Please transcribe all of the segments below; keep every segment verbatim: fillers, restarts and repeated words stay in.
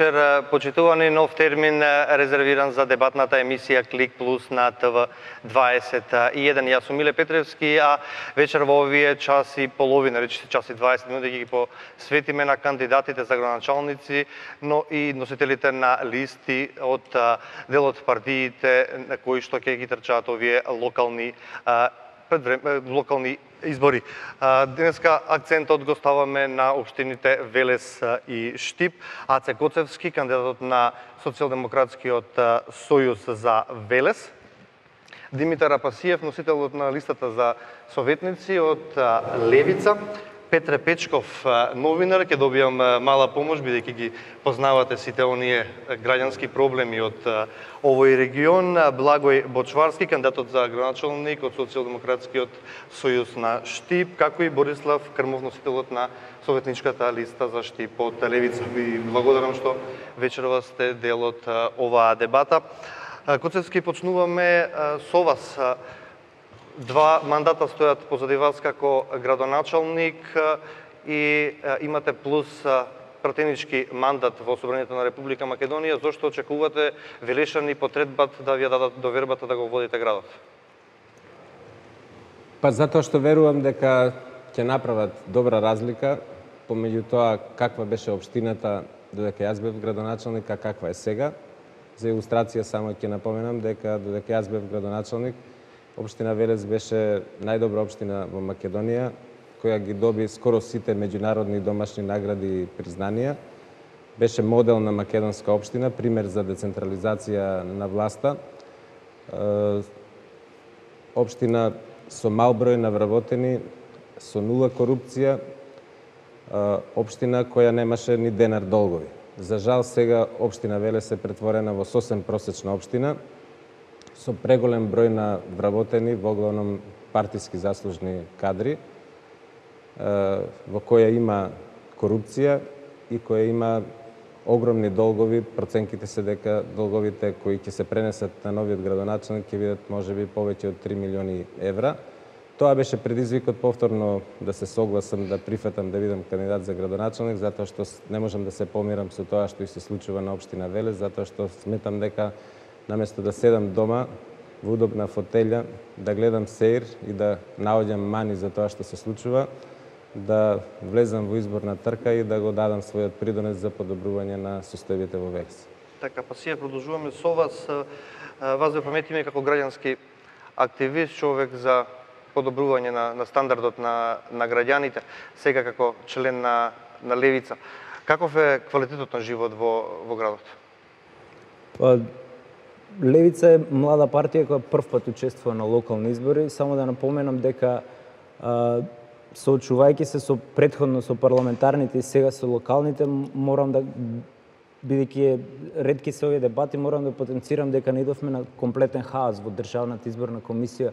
вечер, почитувани. Нов термин резервиран за дебатната емисија Клик Плюс на Т В дваесет и еден. Јас сум Миле Петревски, а вечер во овие часи половина, речиси час и дваесет минути, ги посветиме на кандидатите за градоначалници, но и носителите на листи од делот партиите на кои што ќе ги трчаат овие локални локални избори. Денеска акцентот го ставаме на општините Велес и Штип. Аце Коцевски, кандидатот на Социјалдемократскиот сојуз за Велес. Димитар Апасиев, носителот на листата за советници од Левица. Петре Печков, новинар, ќе добијам мала помош, бидејќи ги познавате сите оние граѓански проблеми од овој регион. Благој Бочварски, кандидатот за градоначалник од Социјалдемократскиот сојуз на Штип, како и Борислав Крмов, носителот на советничката листа за Штип од Левица. Ви благодарам што вечерва сте дел од оваа дебата. Коцевски, почнуваме со вас. Два мандата стојат позади вас како градоначалник и имате плюс пратенички мандат во Собранието на Република Македонија. Зошто очекувате Велешани потредбат да ви ја дадат довербата да го водите градот? Па затоа што верувам дека ќе направат добра разлика помеѓу тоа каква беше општината додека јас бев градоначалник, а каква е сега. За илустрација само ќе напоменам дека додека јас бев градоначалник, општина Велес беше најдобра општина во Македонија, која ги доби скоро сите меѓународни и домашни награди и признанија. Беше модел на македонска општина, пример за децентрализација на власта. Општина со мал број на вработени, со нула корупција, општина која немаше ни денар долгови. За жал, сега општина Велес е претворена во сосем просечна општина, со преголем број на вработени, во главном партиски заслужни кадри, во која има корупција и која има огромни долгови. Проценките се дека долговите кои ќе се пренесат на новиот градоначалник ќе бидат можеби повеќе од три милиони евра. Тоа беше предизвикот повторно да се согласам да прифатам да бидам кандидат за градоначалник, затоа што не можам да се помирам со тоа што и се случува на општина Велес, затоа што сметам дека наместо да седам дома во удобна фотелја, да гледам сеир и да наоѓам мани за тоа што се случува, да влезам во изборна трка и да го дадам својот придонес за подобрување на состојбите во Велес. Така, па сија продолжуваме со вас. Вас ве паметиме како граѓански активист, човек за подобрување на, на стандардот на, на граѓаните, сега како член на, на Левица. Каков е квалитетот на живот во, во градот? Па, Левица е млада партија која прв пат учествува на локални избори. Само да напоменам дека а, соочувајќи се со претходно со парламентарните и сега со локалните, морам да, бидејќи ретки се овие дебати, морам да потенцирам дека не идовме на комплетен хаос во Државната изборна комисија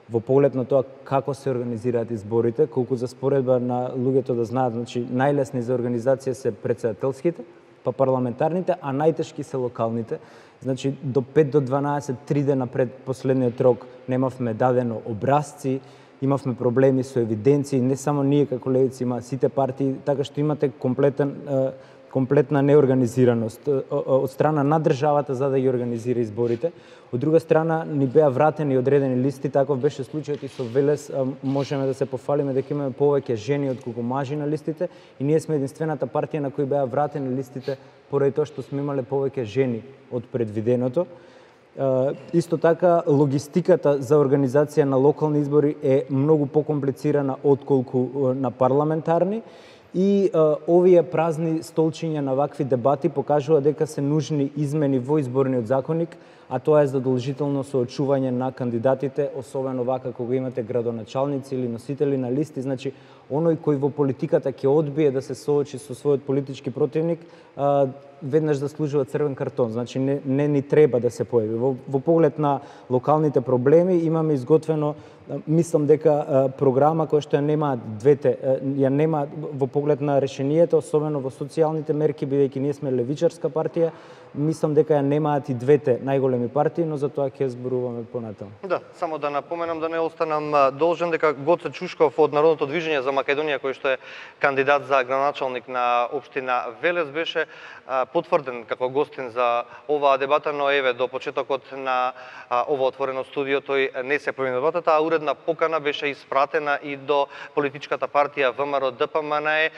во поглед на тоа како се организираат изборите, колку за споредба на луѓето да знаат, значи најлесни за организација се претседателските, па парламентарните, а најтешки се локалните. Значи, до пет до дванаесет, три дена пред последниот рок немавме дадено образци, имавме проблеми со евиденции, не само ние како Левици, има сите партии, така што имате комплетен, комплетна неорганизираност од страна на државата за да ги организира изборите. Од друга страна, ни беа вратени одредени листи, таков беше случајот и со Велес, можеме да се пофалиме дека имаме повеќе жени отколку мажи на листите и ние сме единствената партија на кои беа вратени листите поради тоа што сме имале повеќе жени од предвиденото. Исто така, логистиката за организација на локални избори е многу покомплицирана отколку на парламентарни и а, овие празни столчиња на вакви дебати покажува дека се нужни измени во изборниот законник, а тоа е задолжително соочување на кандидатите, особено вака кога имате градоначалници или носители на листи. Значи, оној кој во политиката ќе одбие да се соочи со својот политички противник, а, веднаш заслужува црвен картон. Значи, не, не ни треба да се појави. Во, во поглед на локалните проблеми имаме изготвено, мислам дека а, програма која што ја нема двете, а, ја нема во поглед на решенијата, особено во социјалните мерки, бидејќи ние сме левичарска партија, мислам дека ја немаат и двете најголеми партии, но за тоа ќе зборуваме понатаму. Да, само да напоменам да не останам должен дека Гоце Чушков од Народното движење за Македонија, кој што е кандидат за градоначалник на општина Велес, беше потврден како гостин за оваа дебата, но еве до почетокот на ова отворено студио тој не се појави на дебатата, а уредна покана беше испратена и до политичката партија ВМРО Д П М Н Е.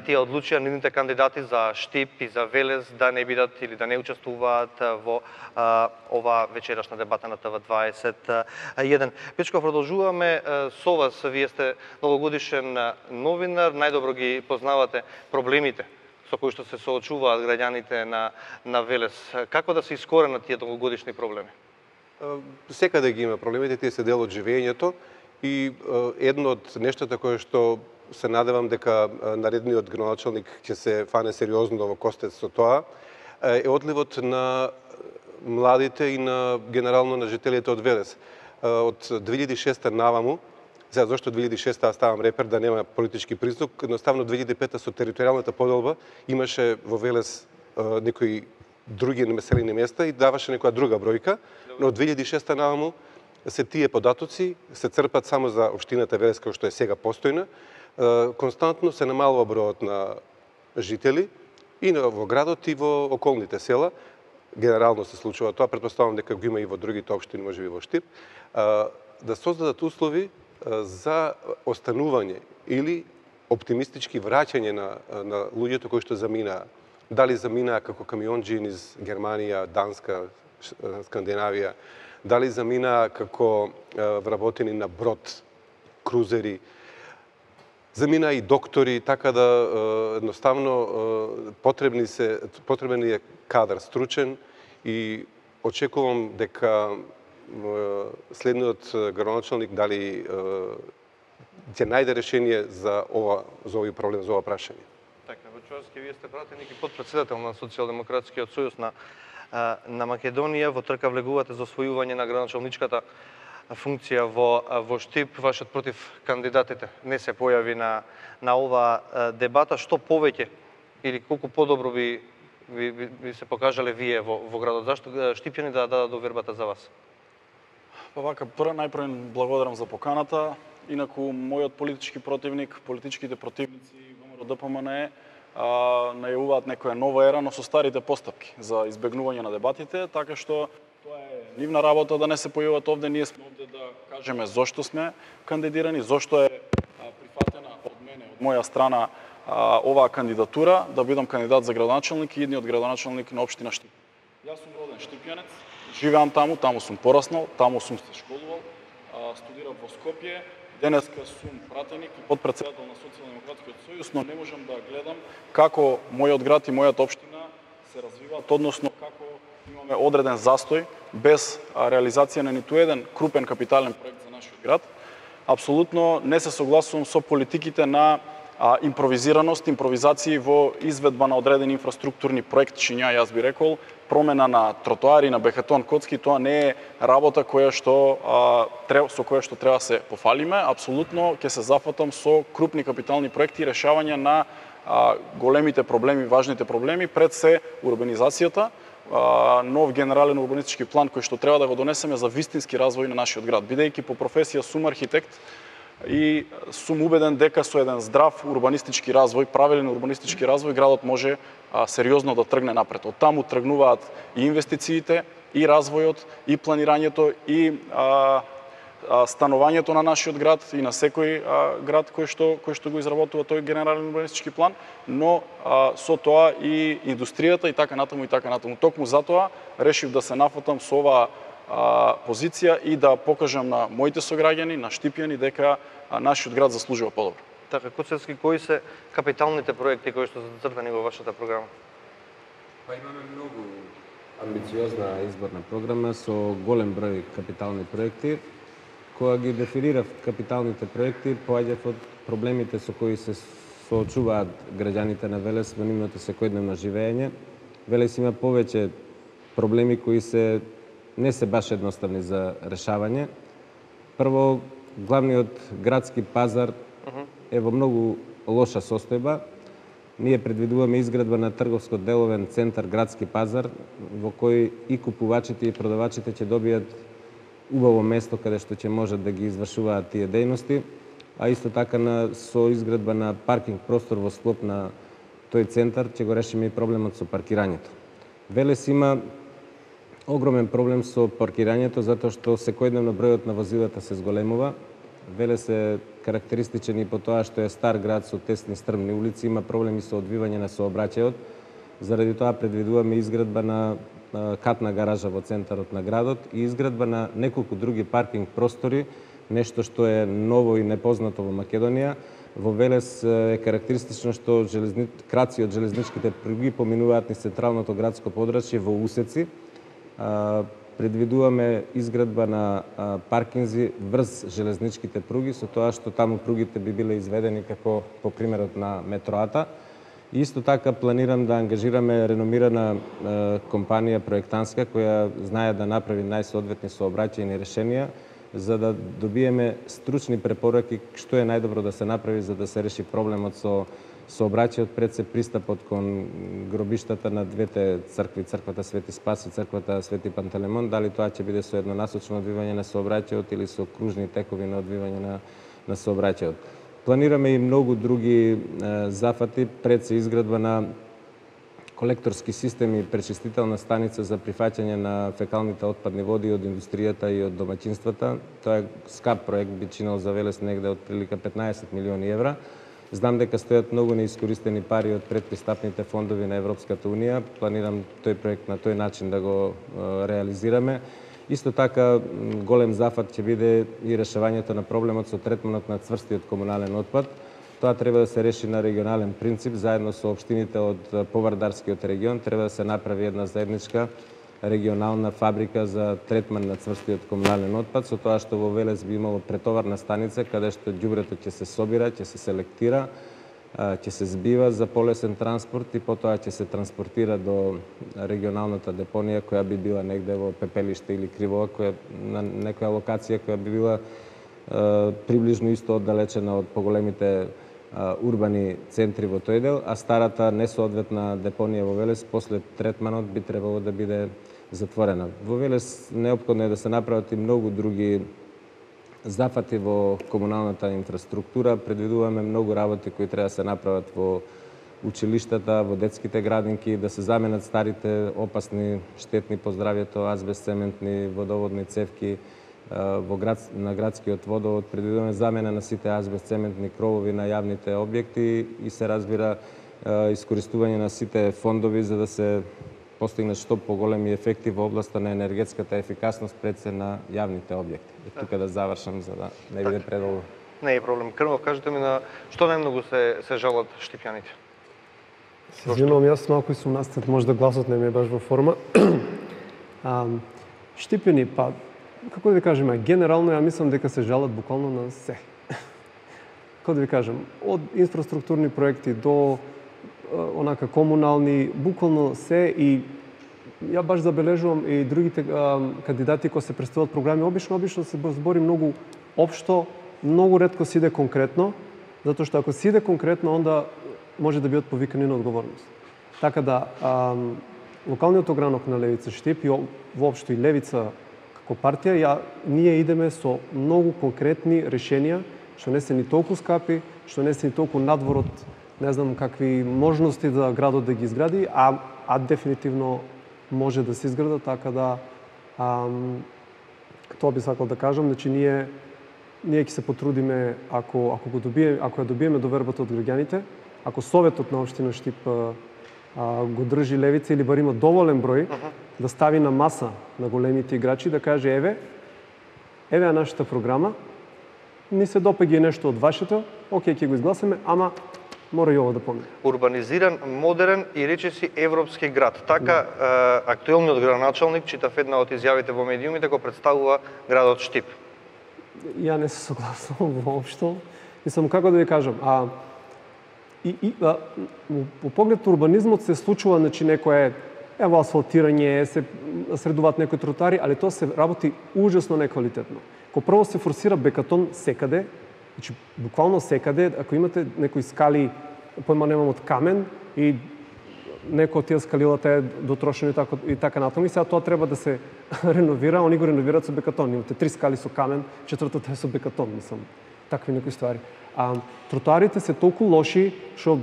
Тие одлучија нивните кандидати за Штип и за Велес да не бидат или да не учествуваат во а, ова вечерашна дебата на Т В дваесет и еден. Печко, продолжуваме со вас. Вие сте долгогодишен новинар, најдобро ги познавате проблемите со кои што се соочуваат граѓаните на, на Велес. Како да се искоренат тие долгогодишни проблеми? Секаде ги има проблемите, тие се дел од живењето и едно од нештата кое што се надевам дека наредниот градоначалник ќе се фане сериозно во костец со тоа, е одливот на младите и на генерално на жителите од Велес. Од две илјади и шеста наваму, сега зашто две илјади и шеста аз ставам репер да нема политички признак, едноставно две илјади и пета со територијалната поделба имаше во Велес некои други населени места и даваше некоја друга бројка, но од две илјади и шеста наваму се тие податоци се црпат само за општината Велес, која што е сега постојна. Константно се намалува бројот на жители и во градот и во околните села. Генерално се случува тоа, претпоставувам дека го има и во другите општини, можеби во Штип, да создадат услови за останување или оптимистички враќање на, на луѓето кои што заминаа. Дали заминаа како камионџи низ Германија, Данска, Скандинавија, дали заминаа како вработени на брод, крузери, замина и доктори, така да едноставно потребни се потребен е кадар стручен и очекувам дека следниот градоначалник дали ќе најде решение за ова за овој проблем, за ова прашање. Така, Вачовски, вие сте пратеник и подпредседател на Социјалдемократскиот сојуз на на Македонија, во трка влегувате за освојување на градоначалничката функција во во Штип. Вашиот против кандидатите не се појави на на оваа дебата. Што повеќе или колку подобро би ви, ви, ви се покажале вие во во градот? Зашто штипјани да дадат довербата за вас? Па вака, прво најпрво благодарам за поканата. Инаку мојот политички противник, политичките противници ВМРО Д П М Н Е најавуваат некоја нова ера, но со старите постапки за избегнување на дебатите, така што тоа е нивна работа да не се појават овде. Ние сме овде да кажеме зошто сме кандидирани, зошто е прифатена од мене, од моја страна оваа кандидатура да бидам кандидат за градоначалник и идниот градоначалник на општина Штип. Јас сум роден штипјанец, живеам таму, таму сум пораснал, таму сум се школувал, студирав во Скопје. Денеска сум пратеник и подпредседател на Социјалдемократскиот сојуз, но не можам да гледам како мојот град и мојата општина се развиваат, односно како имаме одреден застој без реализација на ниту еден крупен капитален проект за нашиот град. Апсолутно не се согласувам со политиките на а, импровизираност, импровизации во изведба на одредени инфраструктурни проектчиња, јас би рекол, промена на тротоари, на бетон коцки, тоа не е работа која што а, треба, со која што треба се пофалиме. Апсолутно ќе се зафатам со крупни капитални проекти и решавање на а, големите проблеми, важните проблеми, пред се урбанизацијата, а, нов генерален урбанистички план кој што треба да го донесеме за вистински развој на нашиот град. Бидејќи по професија сум архитект и сум убеден дека со еден здрав урбанистички развој, правилен урбанистички развој, градот може а, сериозно да тргне напред. Од таму тргнуваат и инвестициите, и развојот, и планирањето, и а, а, станувањето на нашиот град и на секој а, град кој што кој што го изработува тој генерален урбанистички план, но а, со тоа и индустријата и така натаму и така натаму. Токму затоа решив да се нафатам со оваа позиција и да покажам на моите сограѓани, на штипјани, дека нашиот град заслужува подобро. Така, Коцевски, кои се капиталните проекти кои што се зацртани во вашата програма? Па имаме многу амбициозна изборна програма со голем број капитални проекти. Кога ги дефинирав капиталните проекти, поаѓав од проблемите со кои се соочуваат граѓаните на Велес во нивното секојдневно живење. Велес има повеќе проблеми кои се не се баш едноставни за решавање. Прво, главниот градски пазар е во многу лоша состојба. Ние предвидуваме изградба на трговско-деловен центар Градски пазар, во кој и купувачите и продавачите ќе добијат убаво место каде што ќе можат да ги извршуваат тие дејности, а исто така на, со изградба на паркинг простор во склоп на тој центар ќе го решиме и проблемот со паркирањето. Велес има огромен проблем со паркирањето затоа што секојдневно бројот на возилата се зголемува. Велес е карактеристичен и по тоа што е стар град со тесни стрмни улици, има проблеми со одвивање на сообраќајот. Заради тоа предвидуваме изградба на катна гаража во центарот на градот и изградба на неколку други паркинг простори, нешто што е ново и непознато во Македонија. Во Велес е карактеристично што железни... краци од железничките пруги поминуваат низ централното градско подрачје во усеци. Предвидуваме изградба на паркинзи врз железничките пруги, со тоа што таму пругите би биле изведени како по примерот на метроата. И исто така планирам да ангажираме реномирана компанија проектантска која знае да направи најсоодветни сообраќајни решенија, за да добиеме стручни препораки што е најдобро да се направи за да се реши проблемот со сообраќајот, пред се пристапот кон гробиштата на двете цркви, црквата Свети Спас и црквата Свети Пантелеймон, дали тоа ќе биде со еднонасочно одвивање на сообраќајот или со кружни текови на одвивање на, на сообраќајот. Планираме и многу други е, зафати, пред се изградба на колекторски систем и пречистителна станица за прифаќање на фекалните отпадни води од индустријата и од домаќинствата. Тоа е скап проект, би чинал за Велес негде од прилика петнаесет милиони евра. Знам дека стојат многу неискористени пари од предпристапните фондови на Европската Унија. Планирам тој проект на тој начин да го е, реализираме. Исто така, голем зафат ќе биде и решавањето на проблемот со третманот на цврстиот комунален отпад. Тоа треба да се реши на регионален принцип, заедно со општините од Повардарскиот регион. Треба да се направи една заедничка регионална фабрика за третман на цврстиот комунален отпад, со тоа што во Велес би имало претоварна станица, каде што ѓубрето ќе се собира, ќе се селектира, ќе се збива за полесен транспорт и потоа ќе се транспортира до регионалната депонија, која би била негде во Пепелиште или Кривоа, која на некоја локација која би била е, приближно исто оддалечена од поголемите урбани центри во тој дел, а старата несоодветна депонија во Велес после третманот би требало да биде затворена. Во Велес неопходно е да се направат и многу други зафати во комуналната инфраструктура. Предвидуваме многу работи кои треба да се направат во училиштата, во детските градинки, да се заменат старите опасни, штетни по здравјето, азбест-цементни водоводни цевки во град, на градскиот водовод. Предвидуваме замена на сите азбест-цементни кровови на јавните објекти и се разбира искористување на сите фондови за да се постигнат што поголеми ефекти во областа на енергетската ефикасност пред се на јавните објекти. И тука да завршам за да не биде предолго. Не е проблем. Крнов, кажете ми на што најмногу се се жалат штипјаните? Се извинувам, јас малку сум настат, може да гласот не ми е баш во форма. а, штипени, па како да ви кажем, генерално ја мислам дека се жалат буквално на се. Како да ви кажем, од инфраструктурни проекти до онака комунални, буквално се, и ја баш забележувам и другите а, кандидати кои се представуваат програми, обично обично се збори многу општо, многу ретко се иде конкретно, затоа што ако се иде конкретно, онда може да бидат повикани на одговорност. Така да, а, локалниот огранок на Левица Штип и воопшто и Левица како партија, ја, ние идеме со многу конкретни решенија, што не се ни толку скапи, што не се ни толку надвор од не знам какви можности да градот да ги изгради, а, а дефинитивно може да се изграда, така да а, тоа би сакал да кажам, значи ние ние ќе се потрудиме ако ако го добиеме, ако ја добиеме довербата од граѓаните, ако советот на општина Штип а, а, го држи Левица или бар има доволен број да стави на маса на големите играчи да каже еве еве е нашата програма, ни се допаѓа нешто од вашето, окей, ќе го изгласаме, ама мора и ова да помине. Урбанизиран, модерен и речиси европски град. Така, да. е, актуелниот градоначалник, читав една од изјавите во медиумите, го представува градот Штип. Ја не се согласувам воопшто. Мислам, како да ви кажам, а и, и а, по поглед урбанизмот се случува, значи некое ево асфалтирање, се средуваат некои тротари, али тоа се работи ужасно неквалитетно. Ко прво се форсира бекатон секаде, значи буквално секаде, ако имате некои скали појма немам, од камен и некој од тие скалилата е дотрошено и така, и така натаму. И сега тоа треба да се реновира, они го реновираат со бекатон. Имате три скали со камен, четвртата е со бекатон, мислам, такви некои ствари. А тротоарите се толку лоши што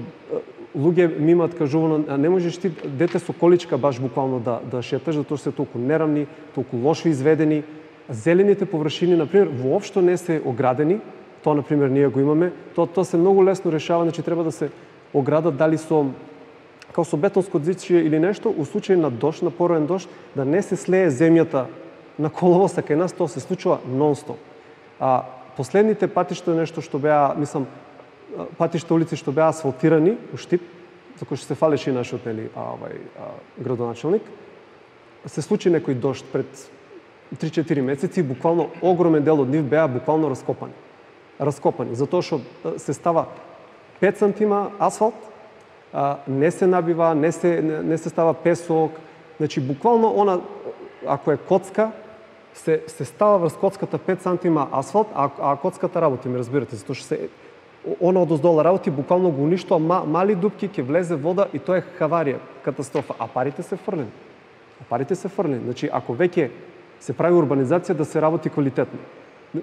луѓе ми имаат кажувано, не можеш ти дете со количка баш буквално да да шеташ, затоа што се толку нерамни, толку лошо изведени. Зелените површини, например, воопшто не се оградени. Тоа, например, ние го имаме. Тоа тоа се многу лесно решава, значи треба да се оградат дали со као со бетонско дзичје или нешто, у случај на дожд, на пороен дожд, да не се слее земјата на коловоса кај нас, тоа се случува нон-стоп. А последните патишта нешто што беа, мислам, патишта улици што беа асфалтирани у Штип, за кој што се фалеше и нашиот нели овај градоначалник, се случи некој дожд пред три-четири месеци, буквално огромен дел од нив беа буквално раскопани. Раскопани, затоа што се става пет сантима асфалт, не се набива, не се не се става песок, значи буквално она ако е коцка се се става врз коцката пет сантима асфалт, а, а коцката работи, ми разбирате, затоа што се она одоздола работи буквално го уништува, ма, мали дупки, ќе влезе вода и тоа е хаварија, катастрофа, а парите се фрлени. А парите се фрлени. Значи ако веќе се прави урбанизација, да се работи квалитетно.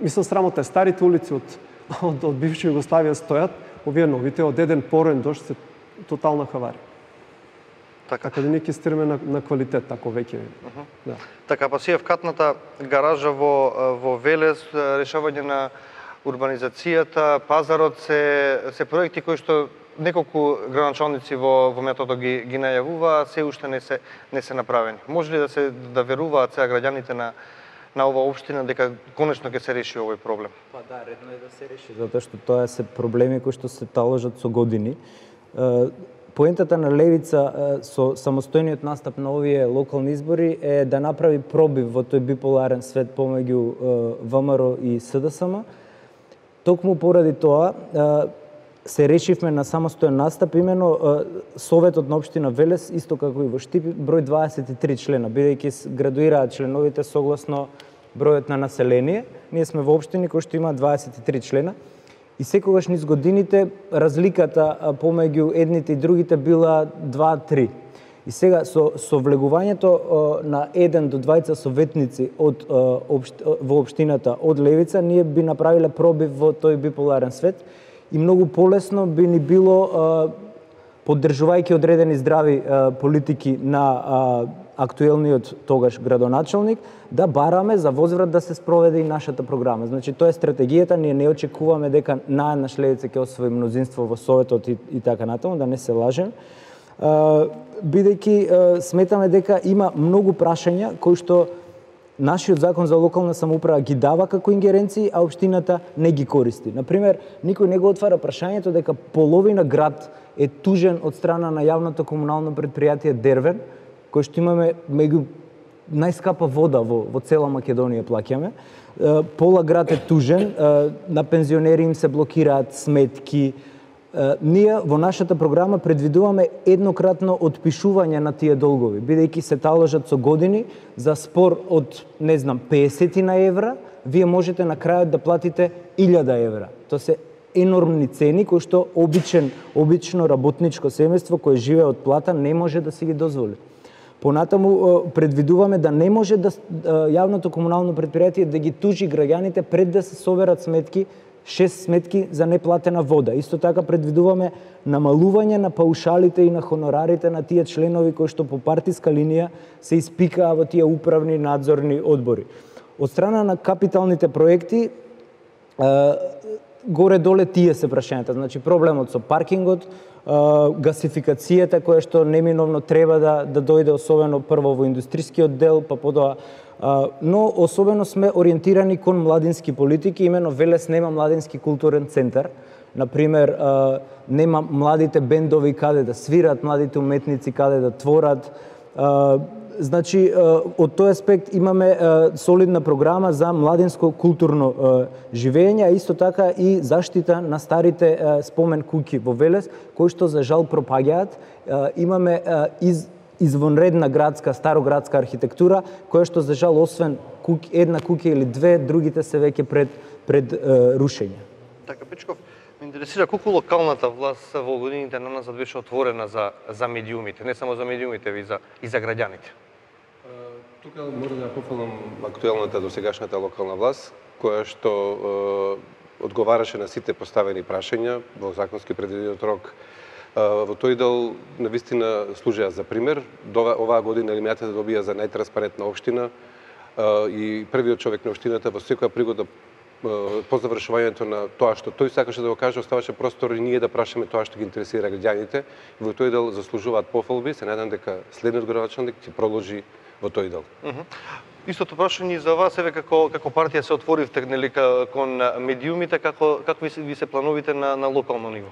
Мислам, срамота е старите улици од од, од бивша Југославија стојат, овие новите од еден порен дожд се тотална хаварија. Така, така да ние ќе стираме на, на квалитет, тако веќе. Uh -huh. Да. Така, па сија вкатната гаража во, во Велес, решавање на урбанизацијата, пазарот се, се проекти кои што неколку градоначалници во, во методот ги, ги најавува, се уште не се, не се направени. Може ли да се да веруваат сега граѓаните на на ова општина дека конечно ќе се реши овој проблем? Па да, редно е да се реши, затоа што тоа се проблеми кои што се таложат со години. Поентата на Левица со самостојниот настап на овие локални избори е да направи пробив во тој биполарен свет помеѓу ВМРО и СДСМ. Токму поради тоа се решивме на самостоен настап, имено Советот на општина Велес, исто како и во Штип, број дваесет и три члена, бидејќи градуираат членовите согласно бројот на население. Ние сме во општини кои што има дваесет и три члена. И секогаш низ годините разликата помеѓу едните и другите била два-три. И сега со, со влегувањето на еден до двајца советници од, обшт, во општината од Левица, ние би направиле пробив во тој биполарен свет и многу полесно би ни било, поддржувајќи одредени здрави политики на актуелниот тогаш градоначалник, да бараме за возврат да се спроведе и нашата програма. Значи, тоа е стратегијата, ние не очекуваме дека наеднаш Левица ќе освои мнозинство во Советот и, и така натаму, да не се лажем. Бидејќи сметаме дека има многу прашања кои што нашиот закон за локална самоуправа ги дава како ингеренции, а општината не ги користи. Например, никој не го отвара прашањето дека половина град е тужен од страна на јавното комунално предпријатие Дервен, кој што имаме меѓу најскапа вода во, во цела Македонија плаќаме. Пола град е тужен, на пензионери им се блокираат сметки. Ние во нашата програма предвидуваме еднократно отпишување на тие долгови, бидејќи се таложат со години за спор од, не знам, песет на евра, вие можете на крајот да платите илјада евра. Тоа се енормни цени кои што обичен, обично работничко семејство кое живее од плата не може да си ги дозволи. Понатаму предвидуваме да не може да јавното комунално предпријатие да ги тужи граѓаните пред да се соберат сметки, шест сметки за неплатена вода. Исто така предвидуваме намалување на паушалите и на хонорарите на тие членови кои што по партиска линија се испикаа во тие управни надзорни одбори. Од страна на капиталните проекти, горе-доле тие се прашањата. Значи проблемот со паркингот, гасификацијата која што неминовно треба да, да дојде особено прво во индустрискиот дел, па потоа, но особено сме ориентирани кон младински политики, имено Велес нема младински културен центар. Например, нема младите бендови каде да свират, младите уметници каде да творат. Значи, од тој аспект имаме солидна програма за младинско културно живење, а исто така и заштита на старите спомен куќи во Велес, кои што за жал пропаѓаат. Имаме из извонредна градска, староградска архитектура, која што за жал освен куќ, една куќа или две, другите се веќе пред пред рушење. Така, Пичков, Ме интересира колку локалната власт во годините на назад беше отворена за за медиумите, не само за медиумите, и за и за граѓаните. Тука мора да пофалам актуелната досегашната локална власт, која што е, одговараше на сите поставени прашања во законски предвидениот рок. Е, во тој дел навистина служеа за пример. Дова, оваа година елимината да добија за најтранспарентна општина е, и првиот човек на општината во секоја пригода по завршувањето на тоа што тој сакаше да го каже, оставаше простор и ние да прашаме тоа што ги интересира граѓаните. Во тој дел заслужуваат пофалби. Се надам дека следниот градоначалник ќе продолжи во тој дел. Uh -huh. Истото прашање за вас, еве како како партија се отворивте нели кон медиумите, како какви ви се плановите на на локално ниво?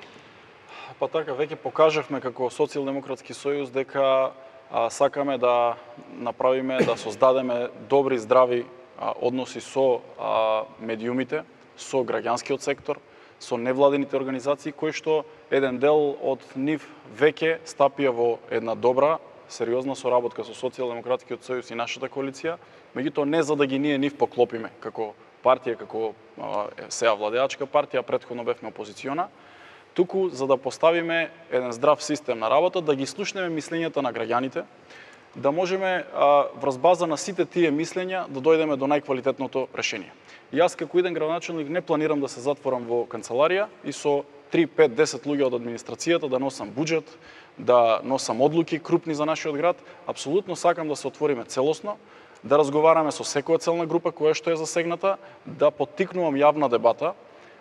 Па така, веќе покажавме како Социјалдемократски сојуз дека а, сакаме да направиме, да создадеме добри, здрави а, односи со а, медиумите, со граѓанскиот сектор, со невладините организации, кои што еден дел од нив веќе стапија во една добра, сериозна соработка со Социјалдемократскиот сојуз и нашата коалиција, меѓутоа не за да ги ние нив поклопиме како партија, како а, сеа владеачка партија, претходно бевме опозициона, туку за да поставиме еден здрав систем на работа, да ги слушнеме мислењата на граѓаните, да можеме а, врз база на сите тие мислења да дојдеме до најквалитетното решение. Јас како иден градоначалник не планирам да се затворам во канцеларија и со три, пет, десет луѓе од администрацијата да носам буџет, да носам одлуки крупни за нашиот град. Апсолутно сакам да се отвориме целосно, да разговараме со секоја целна група која што е засегната, да поттикнувам јавна дебата,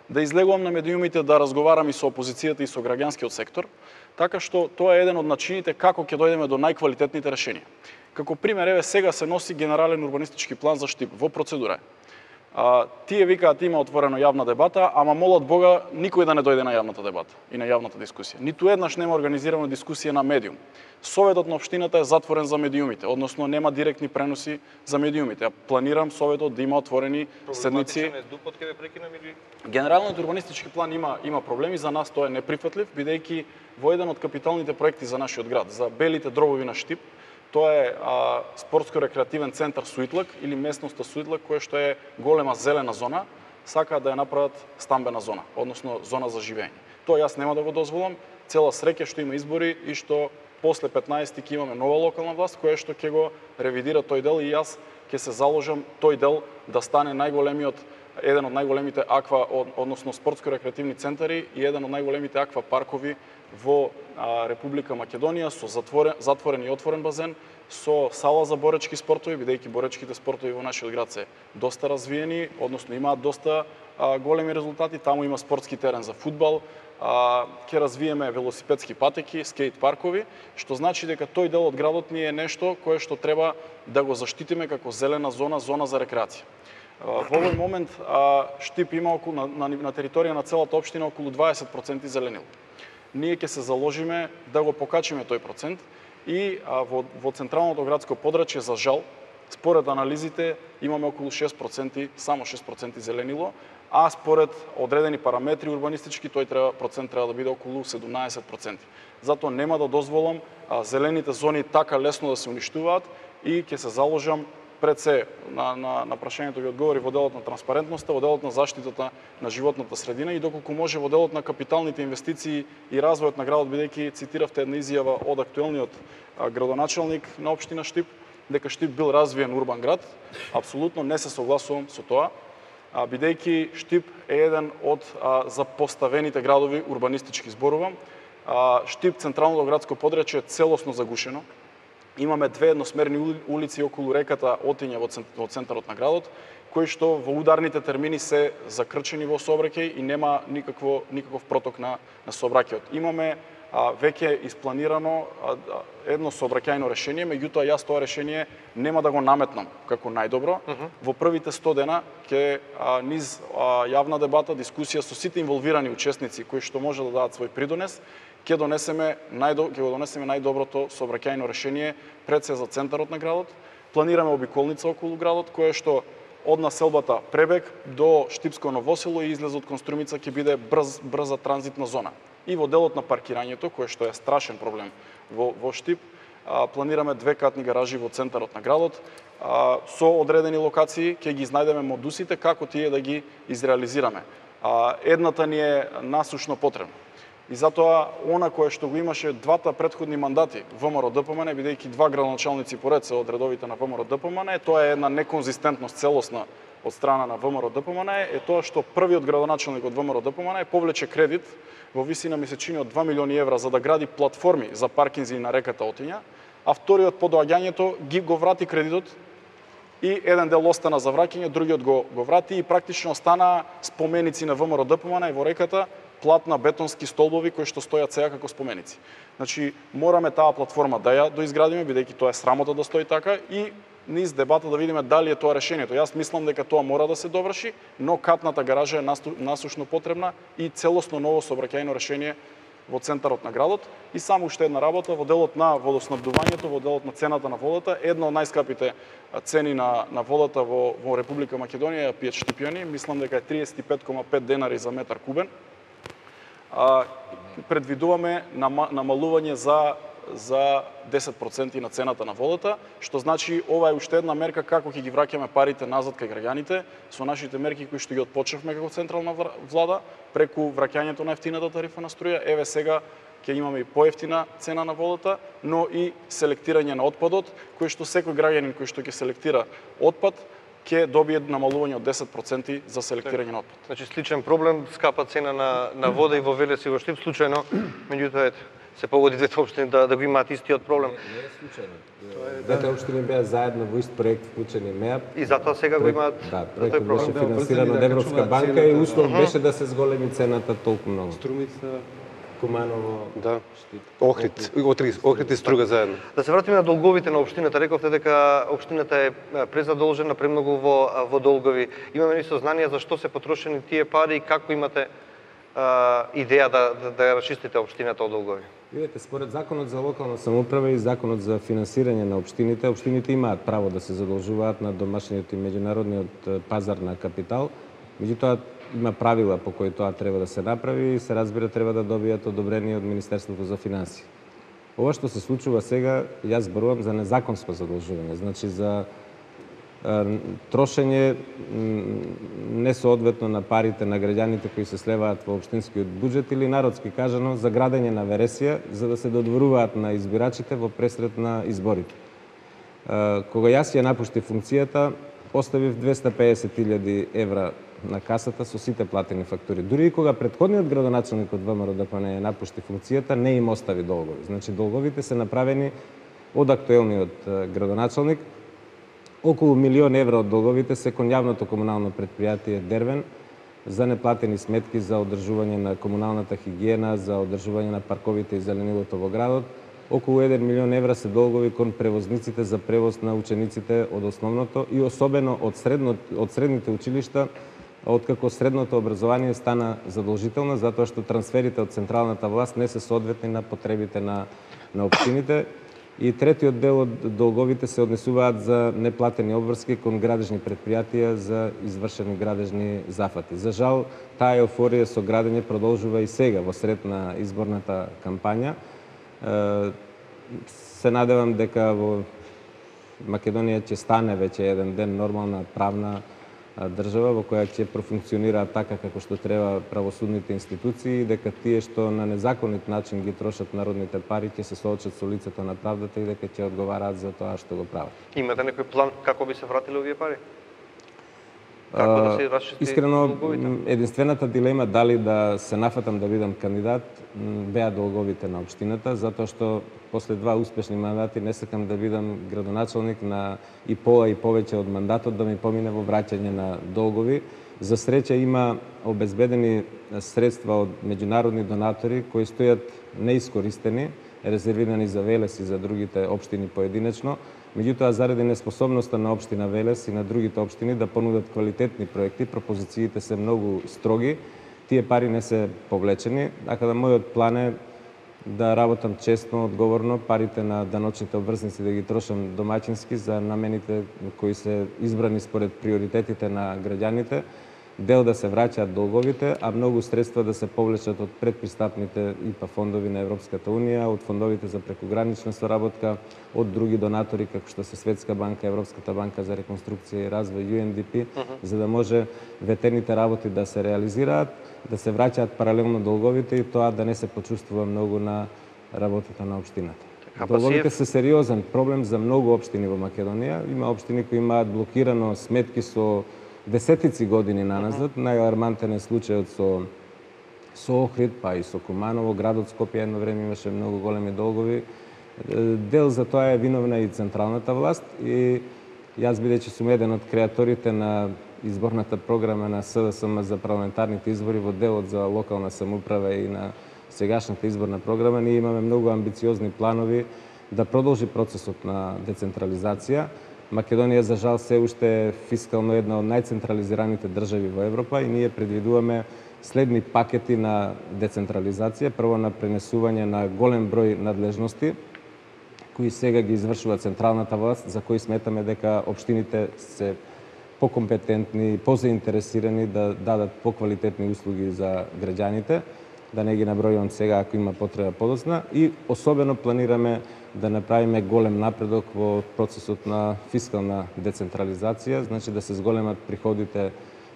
да излегувам на медиумите да разговарам и со опозицијата и со граѓанскиот сектор, така што тоа е еден од начините како ќе дојдеме до најквалитетните решенија. Како пример, еве сега се носи генерален урбанистички план за Штип во процедура. А, тие викаат има отворено јавна дебата, ама молат Бога никој да не дојде на јавната дебата и на јавната дискусија. Ниту еднаш нема организирана дискусија на медиум. Советот на општината е затворен за медиумите, односно нема директни преноси за медиумите. Ја планирам советот да има отворени седници. Генералниот урбанистички план има има проблеми, за нас тоа е неприфатлив, бидејќи во еден од капиталните проекти за нашиот град, за белите дробови на Штип, тоа е а, спортско-рекреативен центар Суитлак или местноста Суитлак, која што е голема зелена зона, сакаат да ја направат стамбена зона, односно зона за живење. Тоа јас нема да го дозволам. Цела среќа што има избори и што после петнаесети ќе имаме нова локална власт која што ќе го ревидира тој дел и јас ќе се заложам тој дел да стане најголемиот, еден од најголемите аква, односно спортско-рекреативни центари и еден од најголемите аква паркови во а, Република Македонија, со затворен, затворен и отворен базен, со сала за боречки спортови, бидејќи боречките спортови во нашиот град се доста развиени, односно имаат доста а, големи резултати. Таму има спортски терен за фудбал, а, ќе развиеме велосипедски патеки, скејт паркови, што значи дека тој дел од градот ни е нешто кое што треба да го заштитиме како зелена зона, зона за рекреација. Во овој момент а, Штип има околу, на, на, на територија на целата општина околу дваесет проценти зеленил. Ние ќе се заложиме да го покачиме тој процент и а, во, во централното градско подрачје, за жал, според анализите имаме околу шест проценти, само шест проценти зеленило, а според одредени параметри урбанистички тој треба, процент треба да биде околу седумнаесет проценти. Затоа нема да дозволам а, зелените зони така лесно да се уништуваат и ќе се заложам пред се на, на, на прашањето ви одговори во делот на транспарентноста, во делот на заштитата на животната средина и доколку може во делот на капиталните инвестиции и развојот на градот, бидејќи цитиравте една изјава од актуелниот а, градоначалник на општина Штип, дека Штип бил развиен урбан град. Апсолутно не се согласувам со тоа, а, бидејќи Штип е еден од а, запоставените градови, урбанистички зборувам. А, Штип, централното градско подрачје е целосно загушено. Имаме две едносмерни улици околу реката Отиња во центарот на градот, кои што во ударните термини се закрчени во сообраќај и нема никакво никаков проток на на сообраќајот. Имаме а, веќе испланирано а, едно сообраќајно решение, меѓутоа јас тоа решение нема да го наметнам како најдобро. Uh -huh. Во првите сто дена ќе а, низ а, јавна дебата, дискусија со сите инволвирани учесници кои што може да дадат свој придонес, ќе донесеме најдо, ќе го донесеме најдоброто сообраќајно решение пред се за центарот на градот. Планираме обиколница околу градот која што од населбата Пребег до Штипско Ново село и излез од кон Струмица ќе биде брз брза транзитна зона. И во делот на паркирањето, кое што е страшен проблем во во Штип, а, планираме две катни гаражи во центарот на градот, а, со одредени локации ќе ги знајдеме модусите како тие да ги изреализираме. А, едната ни е насушно потребна. И затоа, она кое што го имаше двата претходни мандати ВМРО ДПМН, бидејќи два градоначалници поред се од редовите на ВМРО ДПМН, тоа е една неконзистентност целосна од страна на ВМРО ДПМН, е тоа што првиот градоначалник од ВМРО ДПМН повлече кредит во висина месечини од два милиони евра за да гради платформи за паркинзи на реката Отиња, а вториот по доаѓањето ги го врати кредитот и еден дел остана за враќање, другиот го, го врати и практично остана споменици на ВМРО ДПМН и во реката платна бетонски столбови кои што стојат сега како споменици. Значи, мораме таа платформа да ја доизградиме, бидејќи тоа е срамота да стои така и низ дебата да видиме дали е тоа решението. Јас мислам дека тоа мора да се доврши, но катната гаража е насушно потребна и целосно ново сообраќајно решение во центарот на градот. И само уште една работа во делот на водоснабдувањето, во делот на цената на водата, една од најскапите цени на, на водата во, во Република Македонија ја пијат Штипјани, мислам дека е триесет и пет кома пет денари за метар кубен. А, предвидуваме намалување за за десет проценти на цената на водата, што значи ова е уште една мерка како ќе ги враќаме парите назад кај граѓаните со нашите мерки кои што ги отпочнавме како централна влада преку враќањето на ефтината тарифа на струја. Еве сега ќе имаме и поевтина цена на водата, но и селектирање на отпадот, кој што секој граѓанин кој што ќе селектира отпад ќе добие намалување од десет проценти за селектирање на отпад. Значи сличен проблем, скапа цена на на вода и во Велес и во Штип случајно, меѓутоа ете се погоди двете општини да, да го имаат истиот проблем. Не, не е случајно. Двете општини беа заедно во ист проект вклучени МЕАП. И затоа сега го имаат. Да, проектот беше финансиран од Европска банка и услов беше да се зголеми цената толку многу. Струмица, Куманово, да, Охрид, Охрид, Охрид и Струга заедно. Да се вратиме на долговите на општината. Рековте дека општината е презадолжена премногу во во долгови. Имаме ли сознание за што се потрошени тие пари и како имате а, идеја да да, да расчистите општината од долгови? Видете, според Законот за локална самоуправа и Законот за финансирање на општините, општините имаат право да се задолжуваат на домашниот и меѓународниот пазар на капитал. Меѓутоа, има правила по кои тоа треба да се направи и се разбира треба да добијат одобрение од Министерството за финансии. Ова што се случува сега, јас зборувам за незаконско задолжување, значи за е, трошење несоодветно на парите на граѓаните кои се слеваат во општинскиот буџет или народски кажано за градење на вересија за да се додворуваат на избирачите во пресрет на изборите. Е, кога јас ја напуштив функцијата, оставив двесте и педесет илјади евра на касата со сите платени фактури. Дури и кога претходниот градоначалник од ВМРО ДПМН ја напушти функцијата, не им остави долгови. Значи долговите се направени од актуелниот градоначалник. Околу милион евра од долговите се кон јавното комунално предпријатие Дервен за неплатени сметки за одржување на комуналната хигиена, за одржување на парковите и зеленилото во градот. Околу еден милион евра се долгови кон превозниците за превоз на учениците од основното и особено од средно, од средните училишта, откако средното образование стана задолжително, затоа што трансферите од централната власт не се соодветни на потребите на, на општините. И третиот дел од долговите се однесуваат за неплатени обврски кон градежни предпријатија за извршени градежни зафати. За жал, таа еуфорија со градење продолжува и сега во сред на изборната кампања. Се надевам дека во Македонија ќе стане веќе еден ден нормална правна држава во која ќе профункционираат така како што треба правосудните институции и дека тие што на незаконит начин ги трошат народните пари ќе се соочат со лицето на правдата и дека ќе одговараат за тоа што го прават. Имате некој план како би се вратиле овие пари? Како да се расчисти Искрено, долговите? единствената дилема дали да се нафатам да бидам кандидат беа долговите на општината, затоа што после два успешни мандати не сакам да бидам градоначалник на и пола и повеќе од мандатот да ми помине во враќање на долгови. За среќа има обезбедени средства од меѓународни донатори кои стојат неискористени, резервирани за Велес и за другите општини поединечно. Меѓутоа, заради неспособноста на општина Велес и на другите општини да понудат квалитетни проекти, пропозициите се многу строги, тие пари не се повлечени, така да мојот план е да работам честно, одговорно, парите на даночните обврзници да ги трошам домаќински за намените кои се избрани според приоритетите на граѓаните, дел да се враќаат долговите, а многу средства да се повлечат од предпристапните и па фондови на Европската унија, од фондовите за прекогранична соработка, од други донатори како што се Светска банка, Европската банка за реконструкција и развој, Ю Ен Ди Пи, uh-huh. за да може ветените работи да се реализираат, да се враќаат паралелно долговите и тоа да не се почувствува многу на работата на општината. Долговите се сериозен проблем за многу општини во Македонија. Има општини кои имаат блокирано сметки со десетици години наназад. Uh-huh. Најалармантен е случајот со со Охрид, па и со Куманово, градот Скопје едно време имаше многу големи долгови. Дел за тоа е виновна и централната власт и јас бидејќи сум еден од креаторите на изборната програма на С Д С М за парламентарните избори во делот за локална самоуправа и на сегашната изборна програма, ние имаме многу амбициозни планови да продолжи процесот на децентрализација. Македонија, за жал, се уште е фискално една од најцентрализираните држави во Европа и ние предвидуваме следни пакети на децентрализација. Прво на пренесување на голем број надлежности, кои сега ги извршува централната власт, за кои сметаме дека општините се покомпетентни, позаинтересирани да дадат поквалитетни услуги за граѓаните, да не ги набројувам сега ако има потреба подоцна, и особено планираме да направиме голем напредок во процесот на фискална децентрализација, значи да се зголемат приходите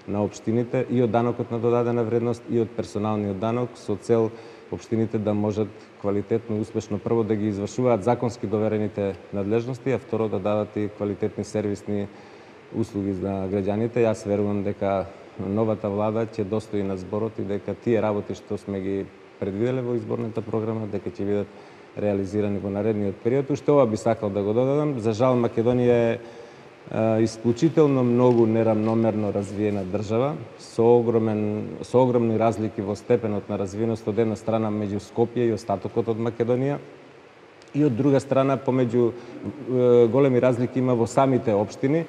на општините и од данокот на додадена вредност и од персоналниот данок со цел општините да можат квалитетно и успешно прво да ги извршуваат законски доверените надлежности, а второ да дадат и квалитетни сервисни услуги за граѓаните. Јас верувам дека новата влада ќе достои на зборот и дека тие работи што сме ги предвиделе во изборната програма, дека ќе бидат реализирани во наредниот период. Уште ова би сакал да го додадам. За жал, Македонија е е исклучително многу неравномерно развиена држава, со огромен со огромни разлики во степенот на развиеност од една страна меѓу Скопје и остатокот од Македонија, и од друга страна помеѓу големи разлики има во самите општини.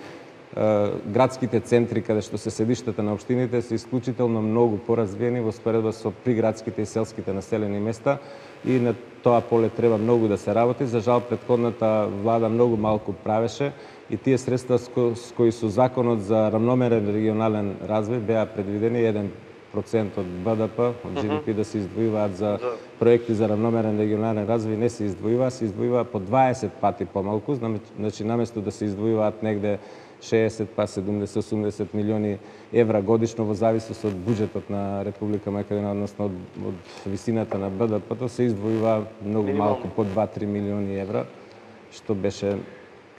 Градските центри каде што се седиштата на општините се исклучително многу поразвиени во споредба со приградските и селските населени места и на тоа поле треба многу да се работи. За жал, претходната влада многу малку правеше и тие средства с кои со законот за равномерен регионален развој беа предвидени еден процент од Б Д П, од Джи Ди Пи да се издвојуваат за проекти за равномерен регионален развој, не се издвојува, се издвојува по дваесет пати помалку, значи наместо да се издвојуваат негде шеесет па седумдесет осумдесет милиони евра годишно во зависност од буџетот на Република Македонија, односно од, од висината на Б Д П-то, се издвојува многу малку, по два-три милиони евра, што беше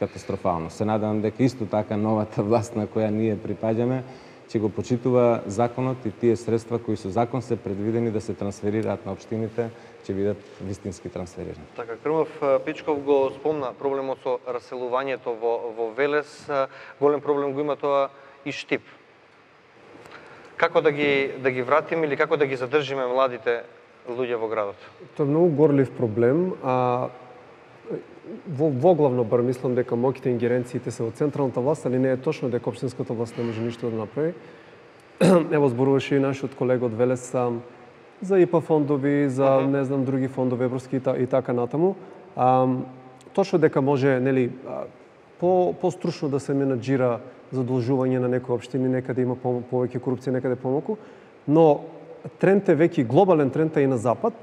катастрофално. Се надевам дека исто така новата власт на која ние припаѓаме ќе го почитува законот и тие средства кои со закон се предвидени да се трансферираат на општините, ќе бидат вистински трансферирани. Така, Крмов Пичков го спомна проблемот со раселувањето во, во Велес. Голем проблем го има тоа и Штип. Како да ги, да ги вратиме или како да ги задржиме младите луѓе во градот? Тоа е многу горлив проблем, а во, во главно бар мислам дека моќите ингеренциите се во централната власт, али не е точно дека општинската власт не може ништо да направи. Ево зборуваше и нашиот колега од Велес за И П А фондови, за uh-huh. не знам други фондови европски и, та, и така натаму. А, точно дека може, нели, по постручно да се менаџира задолжување на некои општини, некаде има по, повеќе корупција, некаде помалку, но тренд е веќе глобален тренд е и на запад,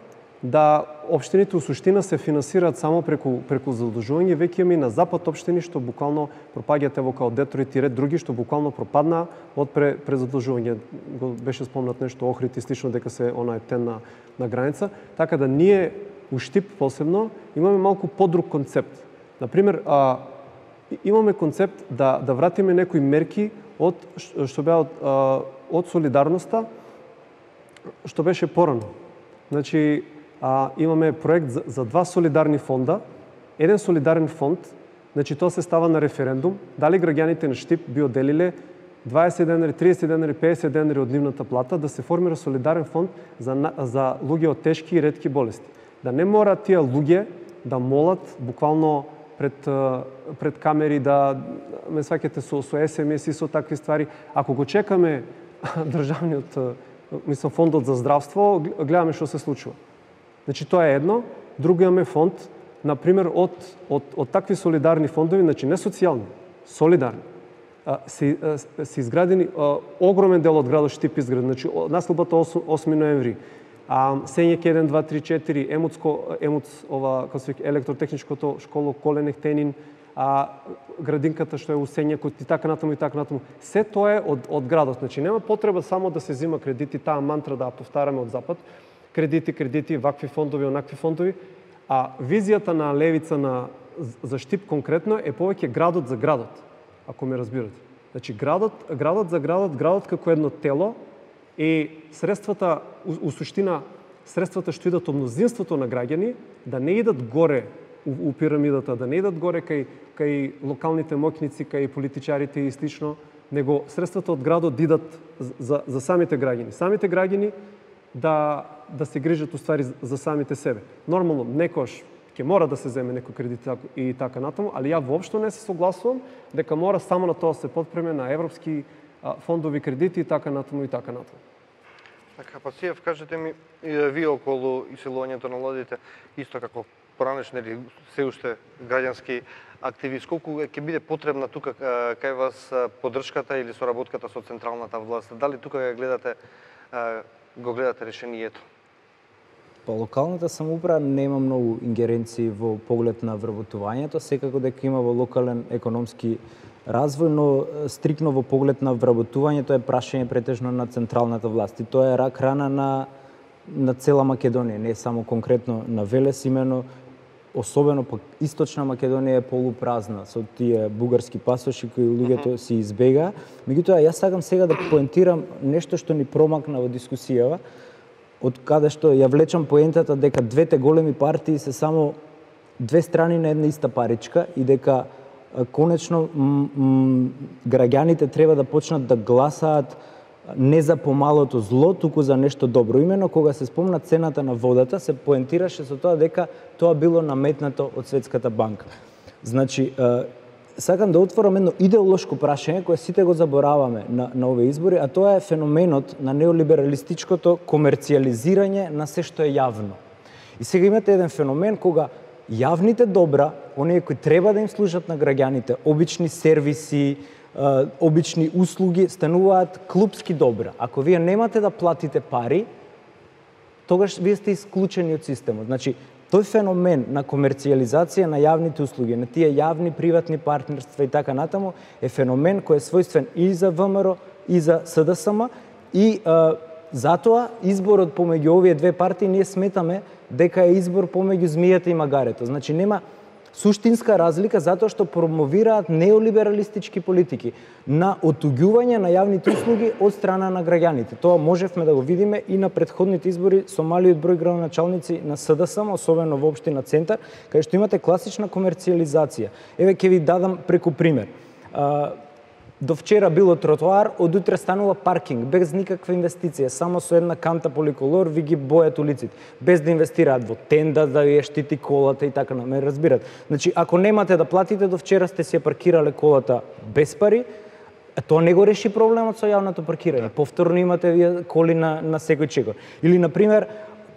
да општините у суштина се финансираат само преку преку задолжување. Веќе има и на запад општини што буквално пропаѓаат, ево као Детройт и ред други што буквално пропаднаа од пре, презадолжување. Го беше спомнат нешто Охрид и слично дека се она е тен на, на граница. Така да ние у Штип посебно имаме малку подруг концепт. Например, а, имаме концепт да да вратиме некои мерки од што беа од, а, од солидарноста што беше порано. Значи, А, имаме проект за, за два солидарни фонда. Еден солидарен фонд, значи тоа се става на референдум, дали граѓаните на Штип би оделиле дваесет денари, триесет денари, пеесет денари од нивната плата да се формира солидарен фонд за, за луѓе од тешки и ретки болести. Да не мора тие луѓе да молат буквално пред, пред камери, да ме сваќате со, со Ес Ем Ес и со такви ствари. Ако го чекаме државниот, мислам, фондот за здравство, гледаме што се случува. Значи тоа е едно. Друго имаме фонд, например, од, од, од такви солидарни фондови, значи не социјални, солидарни. се, се изградени огромен дел од градот Штип изграден. Значи наслобата осми ноември, Сењек еден, два, три, четири, Емуцко, Емуц, ова, како се вика, електротехничкото школо Коленех Тенин, а градинката што е у Сењекот и така натаму и така натаму. Се тоа е од, од градот. Значи нема потреба само да се зима кредити, таа мантра да ја повтараме од запад. Кредити, кредити, вакви фондови, онакви фондови. А визијата на левица на за Штип конкретно е повеќе градот за градот, ако ме разбирате. Значи градот, градот за градот, градот како едно тело и средствата, у, у суштина, средствата што идат од мнозинството на граѓани, да не идат горе у, у пирамидата, да не идат горе кај, кај локалните моќници, кај политичарите и слично, него средствата од градот да идат за, за самите граѓани. Самите граѓани да, да се грижат уствари за самите себе. Нормално, некош ќе мора да се земе некој кредит и така натаму, али ја воопшто не се согласувам дека мора само на тоа се подпреме на европски фондови кредити и така натаму и така натаму. Така, па Сиев, кажете ми, вие околу иселувањето на младите, исто како поранешен или се уште граѓански активист, колку ќе биде потребна тука кај вас поддршката или соработката со централната власт? Дали тука ја гледате, го гледате решението? Па локалната самоуправа нема многу ингеренции во поглед на вработувањето, секако дека има во локален економски развој, но стрикно во поглед на вработувањето е прашање претежно на централната власт. И тоа е рак рана на, на цела Македонија, не само конкретно на Велес, имено особено пак Источна Македонија е полупразна со тие бугарски пасоши кои луѓето си избега. Меѓутоа, јас сакам сега да поентирам нешто што ни промакна во дискусијава, од каде што ја влечам поентата дека двете големи партии се само две страни на една иста паричка и дека конечно граѓаните треба да почнат да гласаат не за помалото зло, туку за нешто добро. Имено кога се спомна цената на водата, се поентираше со тоа дека тоа било наметнато од Светската банка. Значи, сакам да отворам едно идеолошко прашање кое сите го забораваме на, на овие избори, а тоа е феноменот на неолибералистичкото комерцијализирање на се што е јавно. И сега имате еден феномен кога јавните добра, оние кои треба да им служат на граѓаните, обични сервиси, обични услуги, стануваат клупски добра. Ако вие немате да платите пари, тогаш вие сте исклучени од системот. Значи, тој феномен на комерцијализација на јавните услуги, на тие јавни приватни партнерства и така натаму, е феномен кој е својствен и за ВМРО и за СДСМ и а, затоа изборот помеѓу овие две партии ние сметаме дека е избор помеѓу змијата и магарето. Значи нема суштинска разлика затоа што промовираат неолибералистички политики на отуѓување на јавните услуги од страна на граѓаните. Тоа можевме да го видиме и на претходните избори со малиот број градоначалници на СДСМ, особено во општина Центар, каде што имате класична комерцијализација. Еве ќе ви дадам преку пример. До вчера било тротоар, од утре станува паркинг, без никаква инвестиција, само со една канта поликолор ви ги бојат улиците, без да инвестираат во тенда, да ја штити колата и така, ме разбират. Значи, ако немате да платите, до вчера сте си ја паркирале колата без пари, тоа не го реши проблемот со јавното паркирање. Повторно имате вие коли на, на секој чекор. Или, например,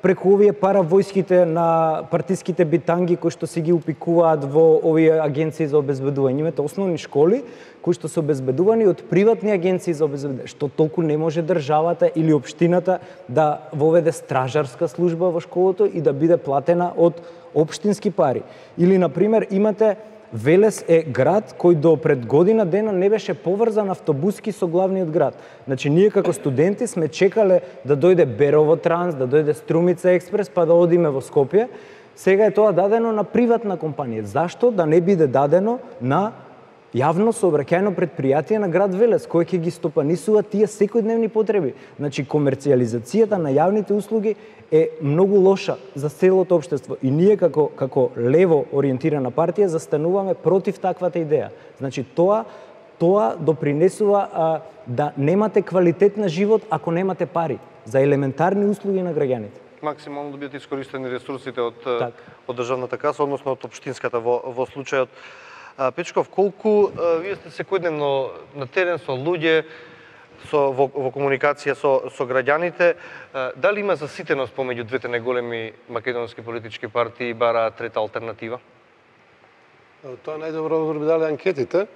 преку овие паравојските на партиските битанги кои што се ги упикуваат во овие агенции за обезбедување. Имате основни школи кои што се обезбедувани од приватни агенции за обезбедување. Што толку не може државата или општината да воведе стражарска служба во школото и да биде платена од општински пари. Или, например, имате Велес е град кој до пред година дена не беше поврзан автобуски со главниот град. Значи, ние како студенти сме чекале да дојде Берово Транс, да дојде Струмица Експрес, па да одиме во Скопје. Сега е тоа дадено на приватна компанија. Зашто да не биде дадено на јавно сообраќајно предпријатие на град Велес, кој ќе ги стопанисува тие секојдневни потреби? Значи, комерцијализацијата на јавните услуги е многу лоша за целото општество и ние како како лево ориентирана партија застануваме против таквата идеја. Значи тоа тоа допринесува а, да немате квалитет на живот ако немате пари за елементарни услуги на граѓаните. Максимално да бидат искористени ресурсите од так. од државната каса, односно од општинската во во случајот. Печков, колку вие сте секојдневно на терен со луѓе, со во, во комуникација со со граѓаните, дали има заситеност помеѓу двете најголеми македонски политички партии и бараат трета алтернатива? Тоа најдобро го би дали анкетите.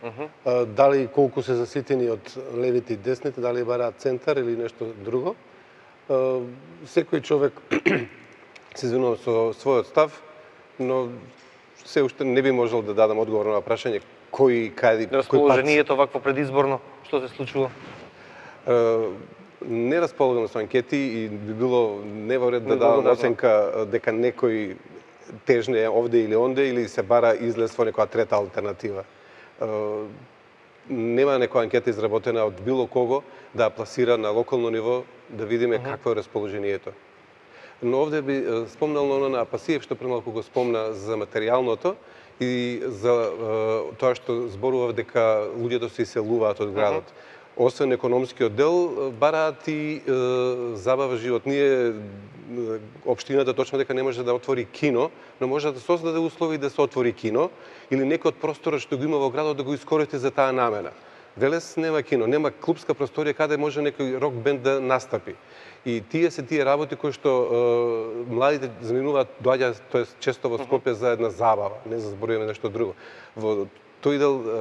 Uh-huh. Дали колку се заситени од левите и десните, дали бараат центар или нешто друго. Секој човек се извинува со својот став, но се уште не би можел да дадам одговор на прашање кој каде кој расположението вакво предизборно што се случува. Не располагам со анкети и би било неворед да дадам оценка дека некој тежне овде или онде или се бара излез во некоја трета алтернатива. Нема некоја анкета изработена од било кого да пласира на локално ниво да видиме uh-huh. какво е расположението. Но овде би спомнал оно на Апасиев што премалку го спомна за материјалното и за е, тоа што зборува дека луѓето се иселуваат од градот. Uh-huh. Освен економскиот дел, бараат и е, забава живот. Ние, општината точно дека не може да отвори кино, но може да создаде услови да се отвори кино или некој од просторот што го има во градот да го искористи за таа намена. Велес нема кино, нема клубска просторија каде може некој рок бенд да настапи. И тие се тие работи кои што е, младите заминуваат, доаѓа, тоест често во Скопје за една забава, не за зборуваме нешто друго. Во тој дел е,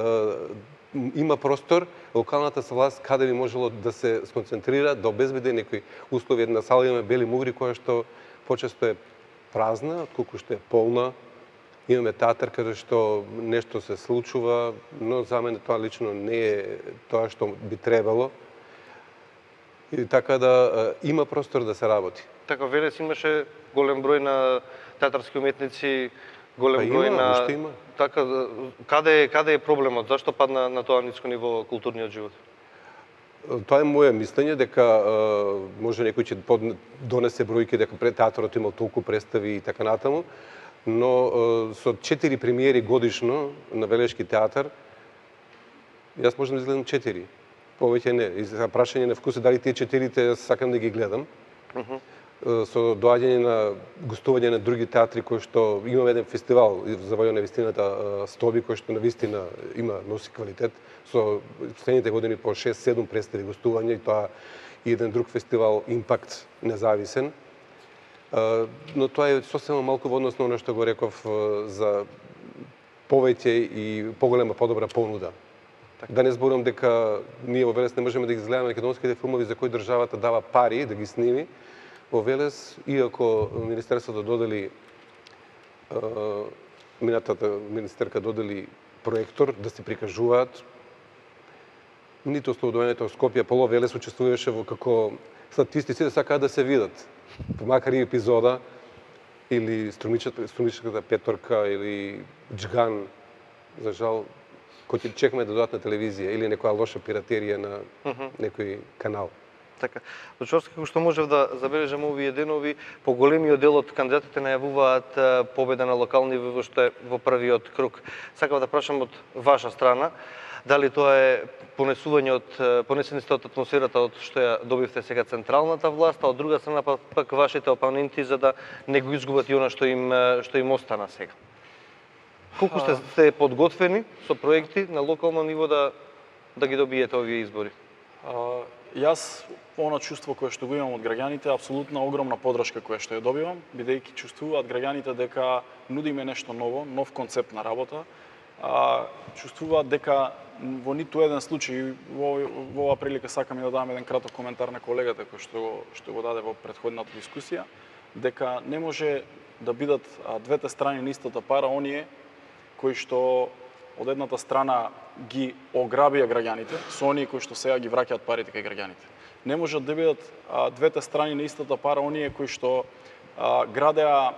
има простор, локалната власт каде би можело да се сконцентрира, да обезбеди некои услови. Една сала имаме Бели Мугри која што почесто е празна, отколку што е полна. Имаме театар каде што нешто се случува, но за мене тоа лично не е тоа што би требало. И така да има простор да се работи. Така Велес имаше голем број на театарски уметници, голем па број има, на уште има. Така каде каде е проблемот? Зашто падна на тоа ниско ниво културниот живот? Тоа е моје мислење дека може некој ќе донесе бројки дека пред театарот имал толку представи и така натаму, но со четири премиери годишно на Велешки театар јас можам да изгледам четири. Повеќе не. И за прашање на вкус дали тие четирите јас сакам да ги гледам. Uh -huh. Со доаѓање на гостување на други театри кои што имаме еден фестивал за војна на вистината Стоби кој што на вистина има носи квалитет со последните години по шест седум представи гостување и тоа и еден друг фестивал Импакт независен. Но тоа е сосема малку во однос на оно што го реков за повеќе и поголема подобра понуда. Да не зборувам дека ние во Велес не можеме да ги гледаме македонските филмови за кои државата дава пари да ги сними. Во Велес, иако Министерството додели, минатата министерка додели проектор да се прикажуваат, ниту Слободовењето од Скопје, Поло Велес учествуваше во како статисти, сите сакаат да се видат. Макар и епизода, или Струмичката петорка, или Джган, за жал, кој ќе чекаме да дојдат на телевизија, или некоја лоша пиратерија на uh -huh. некој канал. Така. Дочорски, како што можев да забележам овие денови, поголемиот дел од кандидатите најавуваат победа на локални ниво што е во првиот круг. Сакав да прашам од ваша страна, дали тоа е понесување од понесени сте од атмосферата од што ја добивте сега централната власт, а од друга страна пак, пак вашите опоненти за да не го изгубат и она што им што им остана сега. Колку сте, сте подготвени со проекти на локално ниво да да ги добиете овие избори? А, јас она чувство кое што го имам од граѓаните, апсолутна огромна поддршка која што ја добивам, бидејќи чувствуваат граѓаните дека нудиме нешто ново, нов концепт на работа, а, чувствуваат дека во ниту еден случај, во, во оваа прилика сакам и да дадам еден краток коментар на колегата кој што, што го даде во претходната дискусија, дека не може да бидат а, двете страни на истата пара оние кои што од едната страна ги ограбија граѓаните, со оние кои што сега ги враќаат парите кај граѓаните. Не можат да бидат а, двете страни на истата пара оние кои што а, градеа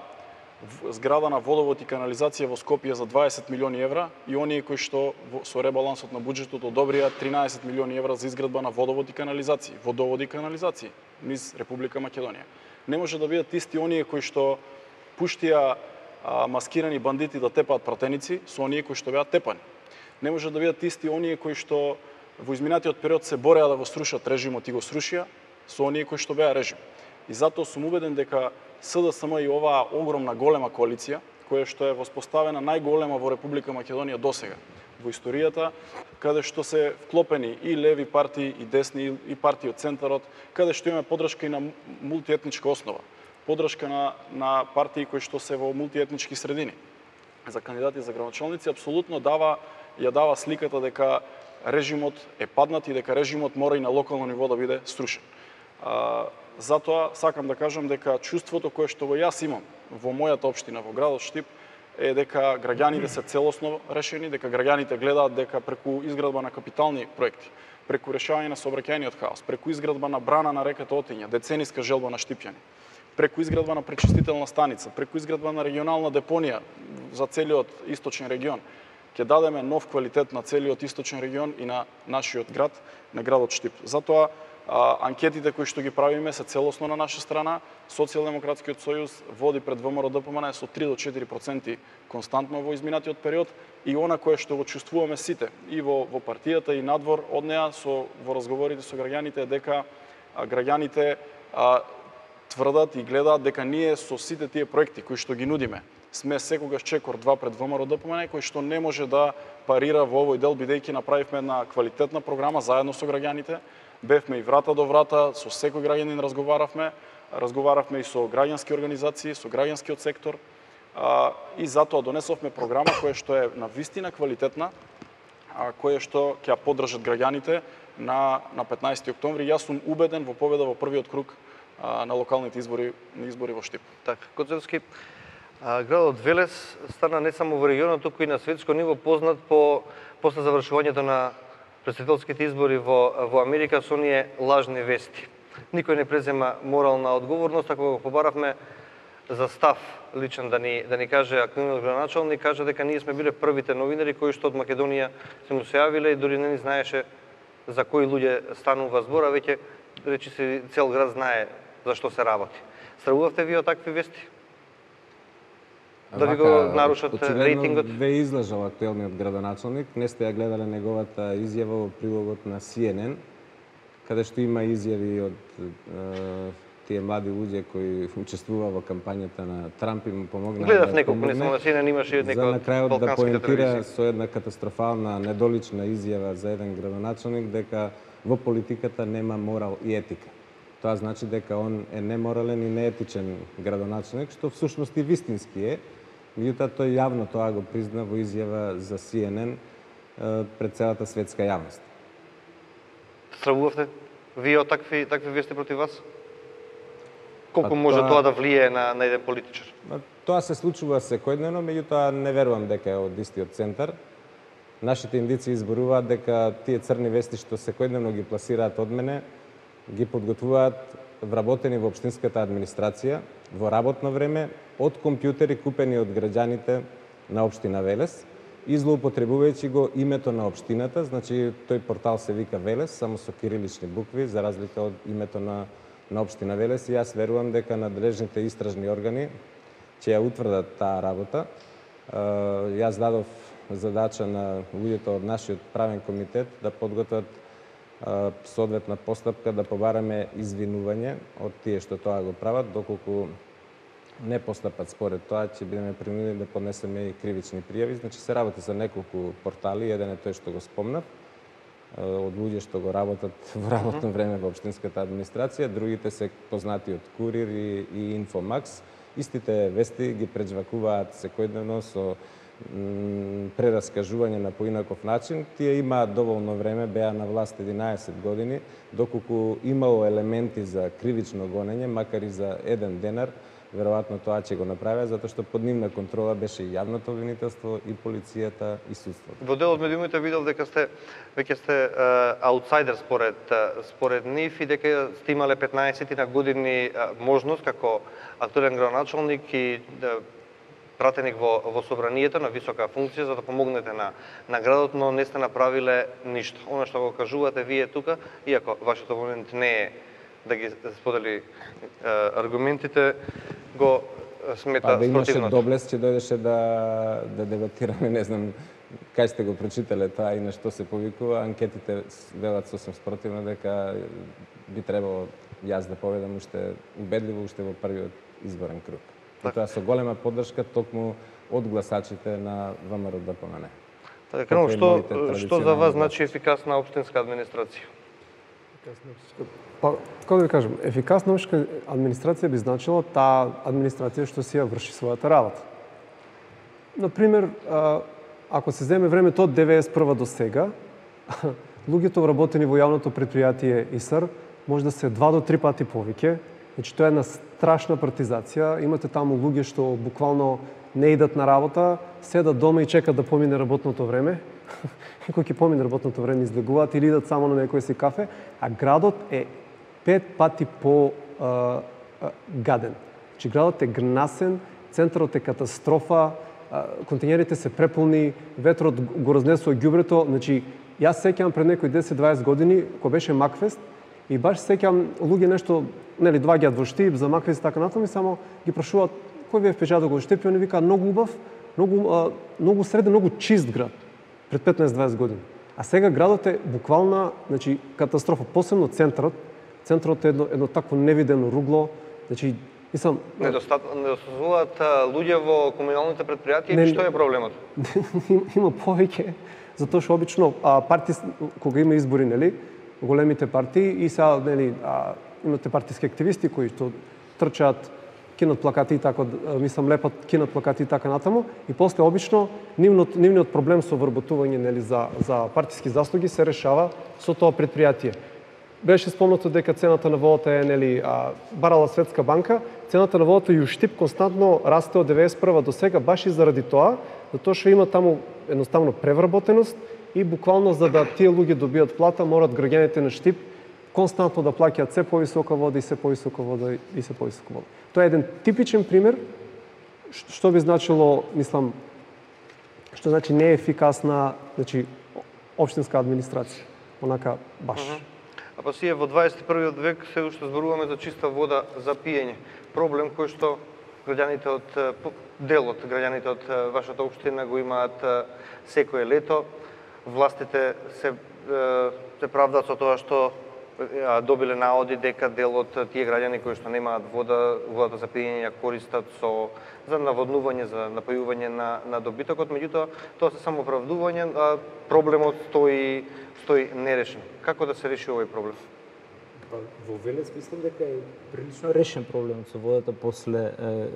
зграда на водовод и канализација во Скопје за дваесет милиони евра и оние кои што со ребалансот на буџетот одобрија тринаесет милиони евра за изградба на водовод и канализации, водоводи и канализации низ Република Македонија. Не може да бидат исти оние кои што пуштија а, маскирани бандити да тепаат пратеници со оние кои што беа тепани. Не може да бидат исти оние кои што во изминатиот период се бореа да го срушат режимот и го срушија со оние кои што беа режим. И затоа сум убеден дека СДСМ и оваа огромна голема коалиција, која што е воспоставена најголема во Република Македонија досега во историјата, каде што се вклопени и леви партии, и десни, и партии од центарот, каде што имаме поддршка и на мултиетничка основа, поддршка на, на партии кои што се во мултиетнички средини. За кандидати за градоначалници апсолутно дава ја дава сликата дека режимот е паднат и дека режимот мора и на локално ниво да биде струшен. А, затоа сакам да кажам дека чувството кое што го јас имам во мојата општина, во градот Штип, е дека граѓаните се целосно решени, дека граѓаните гледаат дека преку изградба на капитални проекти, преку решавање на сообраќајниот хаос, преку изградба на брана на реката Отиња, децениска желба на Штипјани, преку изградба на пречистителна станица, преку изградба на регионална депонија за целиот источен регион, ќе дадеме нов квалитет на целиот источен регион и на нашиот град, на градот Штип. Затоа а, анкетите кои што ги правиме се целосно на наша страна. Социјалдемократскиот сојуз води пред ВМРО-ДПМН со три до четири проценти константно во изминатиот период и она кое што го чувствуваме сите и во, во партијата и надвор од неа со во разговорите со граѓаните е дека а, граѓаните а, тврдат и гледаат дека ние со сите тие проекти кои што ги нудиме сме секогаш чекор два пред ВМРО-ДПМН, кој што не може да парира во овој дел, бидејќи направивме една квалитетна програма заедно со граѓаните. Бевме и врата до врата, со секој граѓанин разговаравме, разговаравме и со граѓански организации, со граѓанскиот сектор, а, и затоа донесовме програма која што е на вистина квалитетна, а, која што ќе ја поддржат граѓаните на, на петнаесети октомври. Јас сум убеден во победа во првиот круг а, на локалните избори, на избори во Штип. Така, Коцевски, градот Велес стана не само во регионот, туку и на светско ниво познат по после завршувањето на претседателските избори во, во Америка со оние лажни вести. Никој не презема морална одговорност, ако го побаравме за став личен да ни, да ни каже активниот градоначалник, кажа дека ние сме биле првите новинари кои што од Македонија се му се јавиле и дури не ни знаеше за кои луѓе станува збор, а веќе речи се цел град знае за што се работи. Стравувавте ви од такви вести? Да ви го нарушат рейтингот? Ве излажал актуелниот градоначалник. Не сте ја гледале неговата изјава во прилогот на Си Ен Ен, каде што има изјави од е, тие млади луѓе кои учествува во кампањата на Трамп и му помогнаа. Гледав да неколку, не само на Си Ен Ен, имаше и некој од балканските да поентира телевизии. со една катастрофална, недолична изјава за еден градоначалник дека во политиката нема морал и етика. Тоа значи дека он е неморален и неетичен градоначалник, што всушност и вистински е. Меѓутоа тој јавно тоа го призна во изјава за Си Ен Ен пред целата светска јавност. Стравувавте вие од такви такви вести против вас? Колку Па може тоа- тоа да влие на на еден политичар? Па, тоа се случува секојдневно, меѓутоа не верувам дека е од истиот центар. Нашите индици изборуваат дека тие црни вести што секојдневно ги пласираат од мене, ги подготвуваат вработени во општинската администрација во работно време од компјутери купени од граѓаните на општина Велес и злоупотребувајќи го името на општината, значи тој портал се вика Велес само со кирилични букви за разлика од името на на општина Велес и јас верувам дека надлежните истражни органи ќе ја утврдат таа работа. Јас дадов задача на луѓето од нашиот правен комитет да подготват соодветна постапка да побараме извинување од тие што тоа го прават, доколку не постапат според тоа, ќе бидеме принудени да поднесеме и кривични пријави. Значи се работи за неколку портали, еден е тој што го спомнав, од луѓе што го работат во работно време во општинската администрација, другите се познати од Курир и, и Инфомакс. Истите вести ги преджвакуваат секојдневно со прераскажување на поинаков начин. Тие имаат доволно време, беа на власт единаесет години, доколку имало елементи за кривично гонење, макар и за еден денар, веројатно тоа ќе го направи, затоа што под нивна контрола беше и јавното обвинителство, и полицијата, и судството. Во дел од медиумите видов дека сте веќе сте аутсайдер според според нив и дека сте имале петнаесет на години можност како актуелен градоначалник и пратеник во во собранието на висока функција за да помогнете на на градот, но не сте направиле ништо. Она што го кажувате вие тука, иако вашиот опонент не е да ги сподели аргументите, го смета Па да имаше спротивното. доблест, ќе дојдеше да да дебатираме, не знам кај сте го прочитале тоа и на што се повикува. Анкетите велат сосем спротивно дека би требало јас да победам уште убедливо уште во првиот изборен круг. И тоа со голема поддршка токму од гласачите на ВМРО-ДПМН. Така, крено, што што за вас значи ефикасна општинска администрација? Па, како да ви кажам, ефикасна општинска администрација би значила таа администрација што си ја врши својата работа. Например, ако се земе времето од деветдесет и прва до сега, луѓето вработени во јавното предпријатие ИСАР може да се два до три пати повеќе. Значи тоа е една страшна партизација. Имате таму луѓе што буквално не идат на работа, седат дома и чекат да помине работното време. Кога ќе помине работното време излегуваат или идат само на некој си кафе, а градот е пет пати по а, а, гаден. Значи градот е гнасен, центарот е катастрофа, а, контењерите се преполни, ветрот го разнесува ѓубрето. Значи јас сеќавам пред некои десет до дваесет години кога беше Макфест и баш сеќавам луѓе нешто, нели, доаѓаат во Штип за Макфест и така натаму и само ги прашуваат кој ви е впечаток од Штип и они викаат многу убав, многу а, многу среден, многу чист град пред петнаесет до дваесет години. А сега градот е буквална, значи, катастрофа, посебно центарот. Центарот е едно, едно такво невидено ругло. Значи, мислам, недостатуваат луѓе во комуналните предпријатија или што е проблемот? Има повеќе, затоа што обично а, партии кога има избори, нели, големите партии и сега, нели, а, имате партиски активисти кои што трчаат, кинат плакати и така, мислам, лепат, кинат плакати и така натаму, и после обично нивниот нивниот проблем со вработување, нели, за за партиски заслуги се решава со тоа предпријатие. Беше спомнато дека цената на водата е, нели, а, барала Светска банка, цената на водата и у Штип константно расте од деветдесет и прва до сега баш и заради тоа, затоа што има таму едноставно превработеност и буквално за да тие луѓе добијат плата морат граѓаните на Штип константно да плаќаат се повисока вода и се повисока вода и се повисока вода. Тоа е еден типичен пример што би значило, мислам, што значи неефикасна, значи општинска администрација, онака баш. Uh -huh. А па сие во дваесет и првиот век се уште зборуваме за чиста вода за пиење. Проблем кој што граѓаните од дел од граѓаните од вашата општина го имаат секое лето. Властите се се правдаат со тоа што добиле наоди дека дел од тие граѓани кои што немаат вода, водата за пиење ја користат со за наводнување, за напојување на на добитокот, меѓутоа тоа се само оправдување, а проблемот стои стои нерешен. Како да се реши овој проблем? Па, во Велес мислам дека е прилично решен проблемот со водата после е,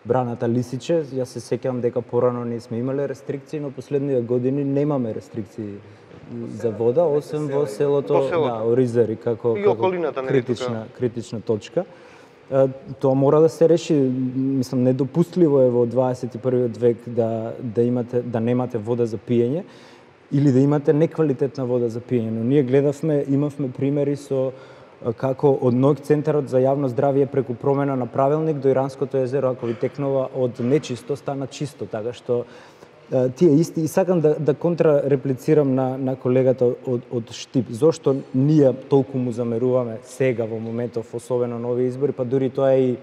браната Лисиче. Јас се сеќавам дека порано ние сме имале рестрикции, но последниве години немаме рестрикции за вода, освен во селото, да, Оризари, како, како критична, критична точка. Тоа мора да се реши, мислам, недопустливо е во дваесет и првиот век да да имате да немате вода за пиење или да имате неквалитетна вода за пиење. Но ние гледавме, имавме примери со како од НОИК центарот за јавно здравје преку промена на правилник до Иранското езеро, ако ви текнува од нечисто стана чисто, така што тие исти, и сакам да, да контрареплицирам на, на колегата од, од Штип. Зошто ние толку му замеруваме сега во моментов, особено на овие избори, па дури тоа е и,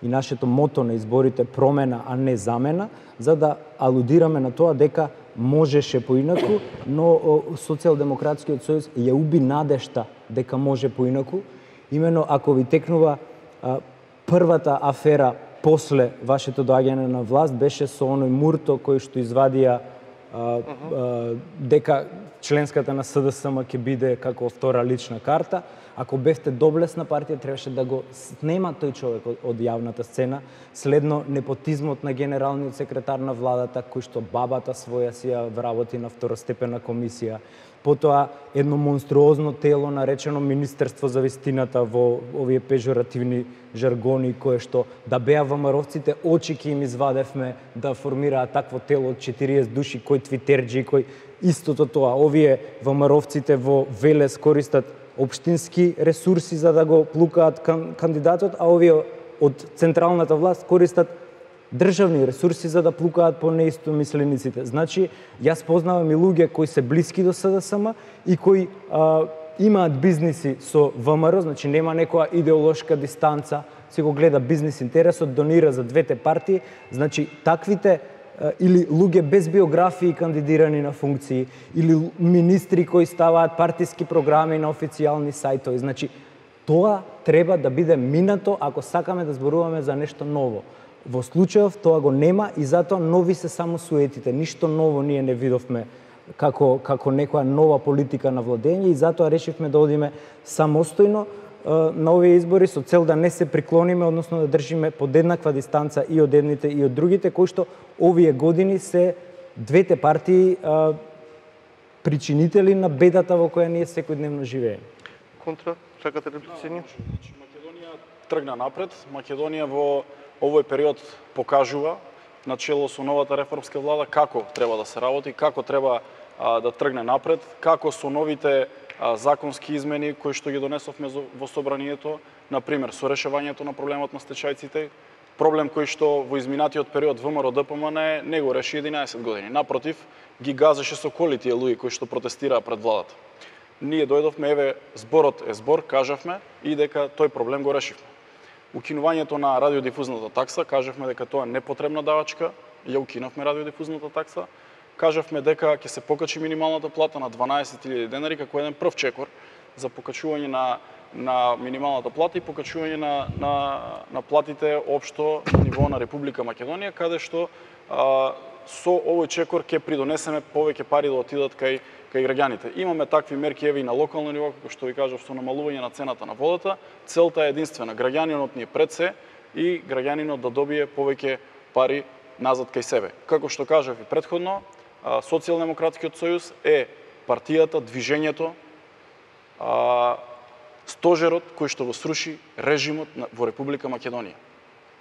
и нашето мото на изборите промена, а не замена, за да алудираме на тоа дека можеше поинаку, но Социјалдемократскиот сојуз ја уби надежта дека може поинаку. Имено ако ви текнува а, првата афера после вашето доаѓање на власт беше со оној Мурто кој што извадија а, а, дека членската на СДСМ ќе биде како втора лична карта. Ако бевте доблесна партија, требаше да го снема тој човек од, од јавната сцена, следно непотизмот на генералниот секретар на владата, кој што бабата своја си ја вработи на второстепена комисија, потоа едно монструозно тело наречено Министерство за вистината во овие пежоративни жаргони, кое што да беа ВМРО-вците, очи ќе им извадевме да формираат такво тело од четириесет души, кој твитерџи, кој истото тоа. Овие ВМРО-вците во Велес користат општински ресурси за да го плукаат кан, кандидатот, а овие од централната власт користат државни ресурси за да плукаат по неистомислениците. Значи, јас познавам и луѓе кои се блиски до СДСМ и кои а, имаат бизниси со ВМРО, значи нема некоја идеолошка дистанца, си го гледа бизнис интересот, донира за двете партии, значи таквите или луѓе без биографии кандидирани на функции, или министри кои ставаат партиски програми на официјални сајтови. Значи, тоа треба да биде минато ако сакаме да зборуваме за нешто ново. Во случајов тоа го нема и затоа нови се само суетите. Ништо ново ние не видовме како, како некоја нова политика на владење и затоа решивме да одиме самостојно на овие избори со цел да не се приклониме, односно да држиме подеднаква дистанца и од едните и од другите, кои што овие години се двете партии а, причинители на бедата во која ние секојдневно живееме. Контра, чекате реплицини? Значи, Македонија тргна напред. Македонија во овој период покажува, начело со новата реформска влада, како треба да се работи, како треба а, да тргне напред, како со новите а, законски измени кои што ги донесовме во собранието, например, со решавањето на проблемот на стечајците, проблем кој што во изминатиот период ВМРО-ДПМН не го реши единаесет години. Напротив, ги газеше со коли тие луѓе кои што протестираа пред владата. Ние дојдовме, еве, зборот е збор, кажавме и дека тој проблем го решивме. Укинувањето на радиодифузната такса, кажавме дека тоа е непотребна давачка, ја укинавме радиодифузната такса. Кажавме дека ќе се покачи минималната плата на дванаесет илјади денари како еден прв чекор за покачување на на минималната плата и покачување на на на платите општо на ниво на Република Македонија, каде што а, со овој чекор ќе придонесеме повеќе пари да отидат кај кај граѓаните. Имаме такви мерки еве и на локално ниво, како што ви кажав, со намалување на цената на водата. Целта е единствена, граѓанинот ни е пред се и граѓанинот да добие повеќе пари назад кај себе. Како што кажав и претходно, Социјалдемократскиот сојуз е партијата, движењето, а, стожерот кој што го сруши режимот во Република Македонија.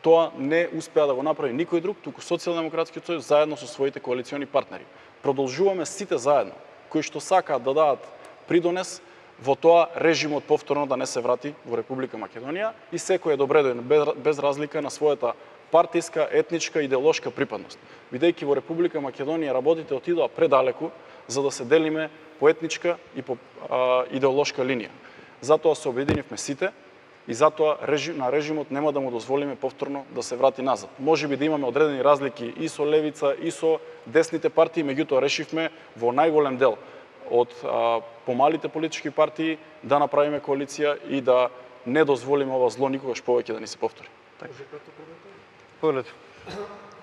Тоа не успеа да го направи никој друг, туку Социјалдемократскиот сојуз заедно со своите коалициони партнери. Продолжуваме сите заедно, кои што сакаат да дадат придонес во тоа режимот повторно да не се врати во Република Македонија и секој е добредоен без разлика на својата партиска, етничка, идеолошка припадност. Бидејќи во Република Македонија работите отидоа предалеку за да се делиме по етничка и по а, идеолошка линија. Затоа се обединивме сите и затоа режим, на режимот нема да му дозволиме повторно да се врати назад. Може би да имаме одредени разлики и со левица и со десните партии, меѓутоа решивме во најголем дел од а, помалите политички партии да направиме коалиција и да не дозволиме ова зло никогаш повеќе да ни се повтори. Повелете.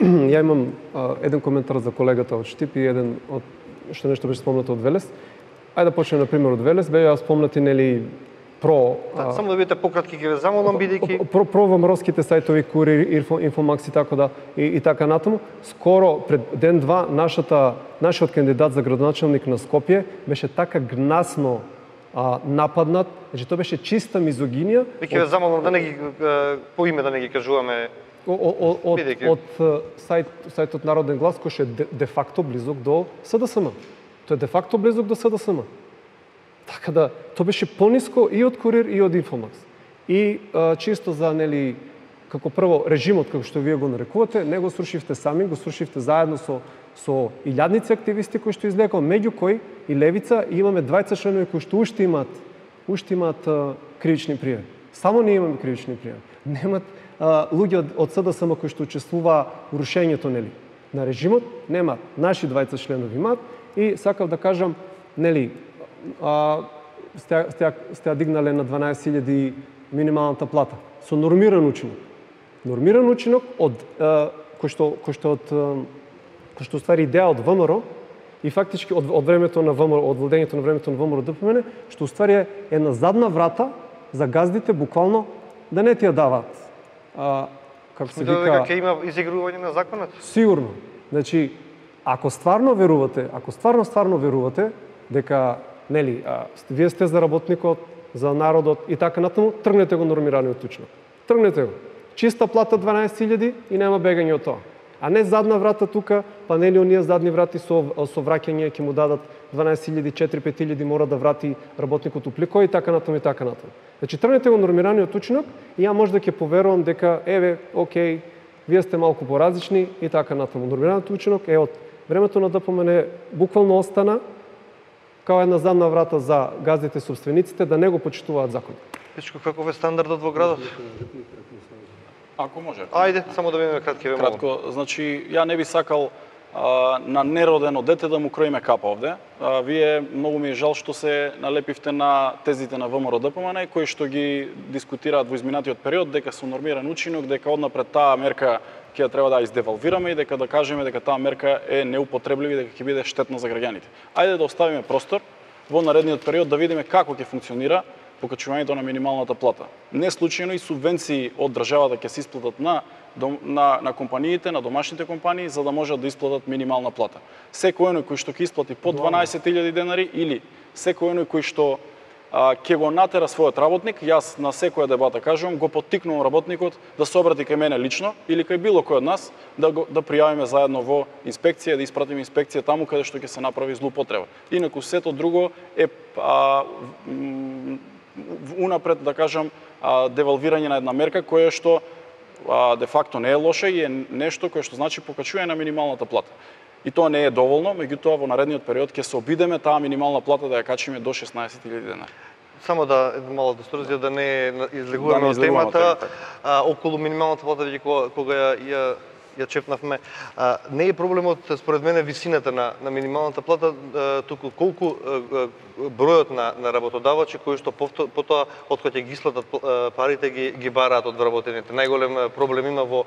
Ја имам а, еден коментар за колегата од Штип и еден од што нешто беше спомнато од Велес. Ајде да почнеме на пример од Велес, беа спомнати нели про Да, само да бидете пократки, ќе ве замолам бидејќи про про ВМРО-ските сајтови Курир, Инфо, Инфомакс и така да и, и така натаму. Скоро пред ден два нашата нашиот кандидат за градоначелник на Скопје беше така гнасно а, нападнат, значи тоа беше чиста мизогинија. Ќе ве замолам да не ги по име да не ги кажуваме. Од од сајт сајтот Народен глас кој е де, де факто близок до СДСМ. Тој е де факто близок до СДСМ. Така да, тоа беше пониско и од Курир и од Инфомакс. И а, чисто за, нели, како прво, режимот, како што вие го нарекувате, не го срушивте сами, го срушивте заедно со, со илјадници активисти кои што излекал, меѓу кои и Левица, и имаме двајцет членови кои што уште имаат, уште имаат а, кривични пријави. Само ние имаме кривични пријави. Немат а, луѓе од, од СДСМ кои што учествуваа во рушењето, нели, на режимот, немаат. Наши двајцет членови имаат и сакав да кажам, нели, а, сте, сте, сте дигнале на дванаесет илјади минималната плата со нормиран учинок. Нормиран учинок од а, кој што кој што од кој што ствари идеја од ВМРО и фактички од, од времето на ВМРО, од владењето на времето на ВМРО-ДПМН, што уствари е една задна врата за газдите буквално да не ти ја даваат. А, како се вика, дека ќе има изигрување на законот? Сигурно. Значи, ако стварно верувате, ако стварно стварно верувате дека нели, а, вие сте за работникот, за народот и така натаму, тргнете го нормираниот учинок. Тргнете го. Чиста плата дванаесет илјади и нема бегање од тоа. А не задна врата тука, па нели оние задни врати со со враќање ќе му дадат дванаесет илјади, четири-пет илјади мора да врати работникот уплико и така натаму и така натаму. Значи тргнете го нормираниот учинок и ја може да ќе поверувам дека еве, окей, вие сте малку поразлични и така натаму. Нормираниот учинок е од времето на ДПМН буквално остана као една задна врата за газдите собствениците да не го почитуваат законот. Пичко, каков е стандардот во градот? Ако може. Ајде, само да бидеме кратки, ве молам. Кратко, значи, ја не би сакал а, на неродено дете да му кроиме капа овде. А, вие многу ми е жал што се налепивте на тезите на ВМРО-ДПМН, кои што ги дискутираат во изминатиот период, дека со нормиран учинок, дека однапред таа мерка ќе треба да издевалвираме и дека да кажеме дека таа мерка е неупотреблива и дека ќе биде штетна за граѓаните. Ајде да оставиме простор во наредниот период да видиме како ќе функционира покачувањето на минималната плата. Не случајно и субвенции од државата ќе се исплатат на на, на компаниите, на домашните компании, за да можат да исплатат минимална плата. Секој оној кој што ќе исплати по дванаесет илјади денари или секој оној кој што а, ќе го натера својот работник, јас на секоја дебата кажувам, го поттикнувам работникот да се обрати кај мене лично или кај било кој од нас да го да пријавиме заедно во инспекција, да испратиме инспекција таму каде што ќе се направи злоупотреба. Инаку сето друго е а, унапред да кажам а, девалвирање на една мерка која што а, де факто не е лоша и е нешто кое што значи покачување на минималната плата. И тоа не е доволно, меѓутоа во наредниот период ќе се обидеме таа минимална плата да ја качиме до шеснаесет илјади денари. Само да мало дисторзија да не излегуваме од темата, а, околу минималната плата веќе кога, кога ја, ја ја чепнавме. А, не е проблемот според мене висината на на минималната плата, а, туку колку а, бројот на на работодавачи кои што потоа откога ќе ги исплатат парите ги ги бараат од вработените. Најголем проблем има во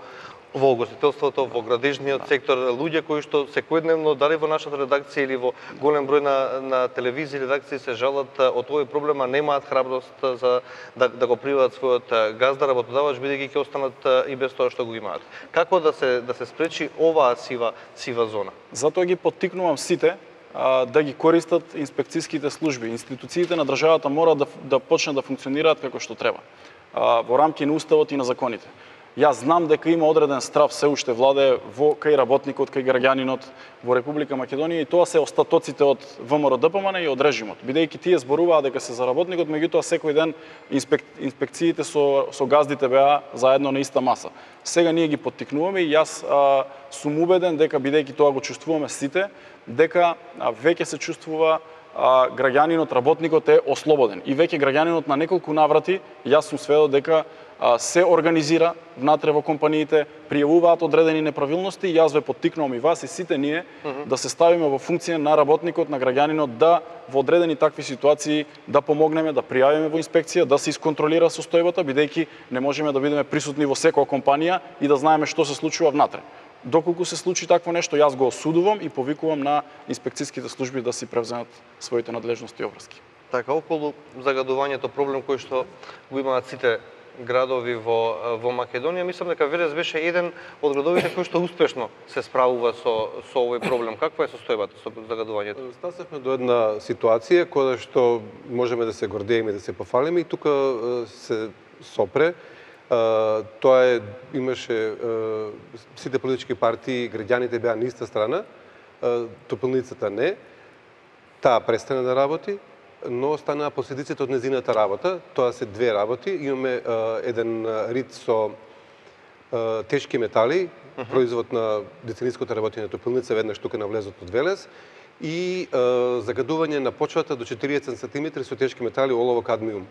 во угостителството, во градежниот сектор, луѓе кои што секојдневно дали во нашата редакција или во голем број на на телевизии редакции се жалат од овој проблем, а немаат храброст за да да го приваат својот газда работодавач бидејќи ќе останат и без тоа што го имаат. Како да се да се спречи оваа сива сива зона? Затоа ги поттикнувам сите а, да ги користат инспекцијските служби. Институциите на државата мора да да почнат да функционираат како што треба. А, во рамки на уставот и на законите. Јас знам дека има одреден страв се уште владее во кај работникот, кај граѓанинот во Република Македонија и тоа се остатоците од ВМРО-ДПМН и од режимот. Бидејќи тие зборуваат дека се за работникот, меѓутоа секој ден инспек... инспекциите со со газдите беа заедно на иста маса. Сега ние ги поттикнуваме и јас а, сум убеден дека бидејќи тоа го чувствуваме сите, дека а, веќе се чувствува а, граѓанинот, работникот е ослободен. И веќе граѓанинот на неколку наврати, јас сум сведок дека се организира внатре во компаниите, пријавуваат одредени неправилности и јас ве поттикнувам и вас и сите ние uh -huh. да се ставиме во функција на работникот, на граѓанинот, да во одредени такви ситуации да помогнеме, да пријавиме во инспекција, да се исконтролира состојбата, бидејќи не можеме да бидеме присутни во секоја компанија и да знаеме што се случува внатре. Доколку се случи такво нешто, јас го осудувам и повикувам на инспекцијските служби да си превземат своите надлежности и обврски. Така, околу загадувањето, проблем кој што го имаат сите градови во во Македонија, мислам дека Велес беше еден од градовите кој што успешно се справува со со овој проблем. Каква е состојбата со загадувањето? Стасавме до една ситуација која што можеме да се гордееме, да се пофалиме и тука се сопре. Тоа е имаше сите политички партии, граѓаните беа на иста страна, топилницата не. Таа престана да работи, но станаа последиците од незината работа. Тоа се две работи. Имаме а, еден рид со а, тешки метали, uh -huh. производ на децениското работење на топилница, веднаш тука на влезот од Велес, и а, загадување на почвата до четириесет сантиметри со тешки метали, олово, кадмиум.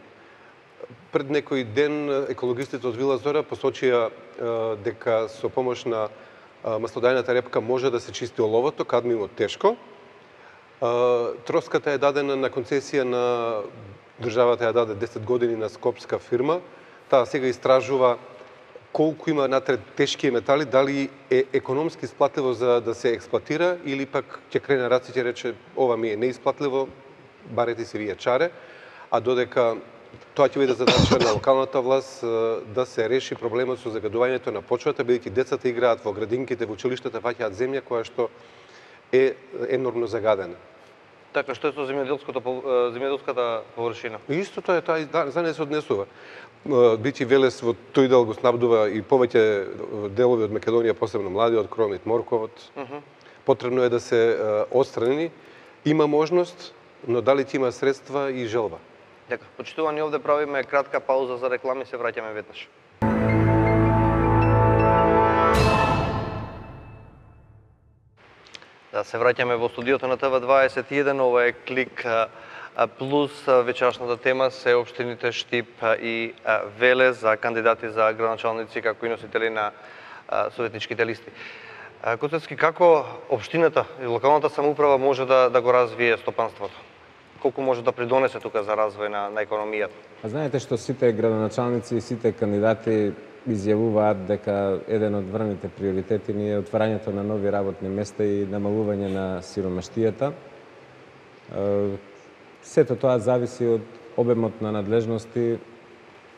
Пред некој ден екологистите од Вила Зора посочија а, дека со помош на а, маслодајната репка може да се чисти оловото, кадмиумот тешко. Троската е дадена на концесија на државата, ја даде десет години на скопска фирма. Таа сега истражува колку има натре тешки метали, дали е економски исплатливо за да се експлатира или пак ќе крене раци ќе рече ова ми е неисплатливо, барете си вие чаре, а додека тоа ќе биде задача на локалната власт да се реши проблемот со загадувањето на почвата, бидејќи децата играат во градинките, во училиштата, фаќаат земја која што е енормно загадена. Така, што е со земјоделското земјоделската површина? Истото е тоа, да, за не се однесува. Бити Велес во тој дел го снабдува и повеќе делови од Македонија, посебно младиот кромит, морковот. Uh -huh. Потребно е да се отстрани. Има можност, но дали ќе има средства и желба. Дека, почитувани, овде правиме кратка пауза за реклами, се враќаме веднаш. Да, се враќаме во студиото на Т В дваесет и еден, ова е Клик Плюс. Вечерашната тема се општините Штип и Велес за кандидати за градоначалници како и носители на советничките листи. Коцевски, како општината и локалната самоуправа може да, да го развие стопанството? Колку може да придонесе тука за развој на, на економијата? А знаете што сите градоначалници и сите кандидати изјавуваат дека еден од врвните приоритети ни е отварањето на нови работни места и намалување на сиромаштијата. Сето тоа зависи од обемот на надлежности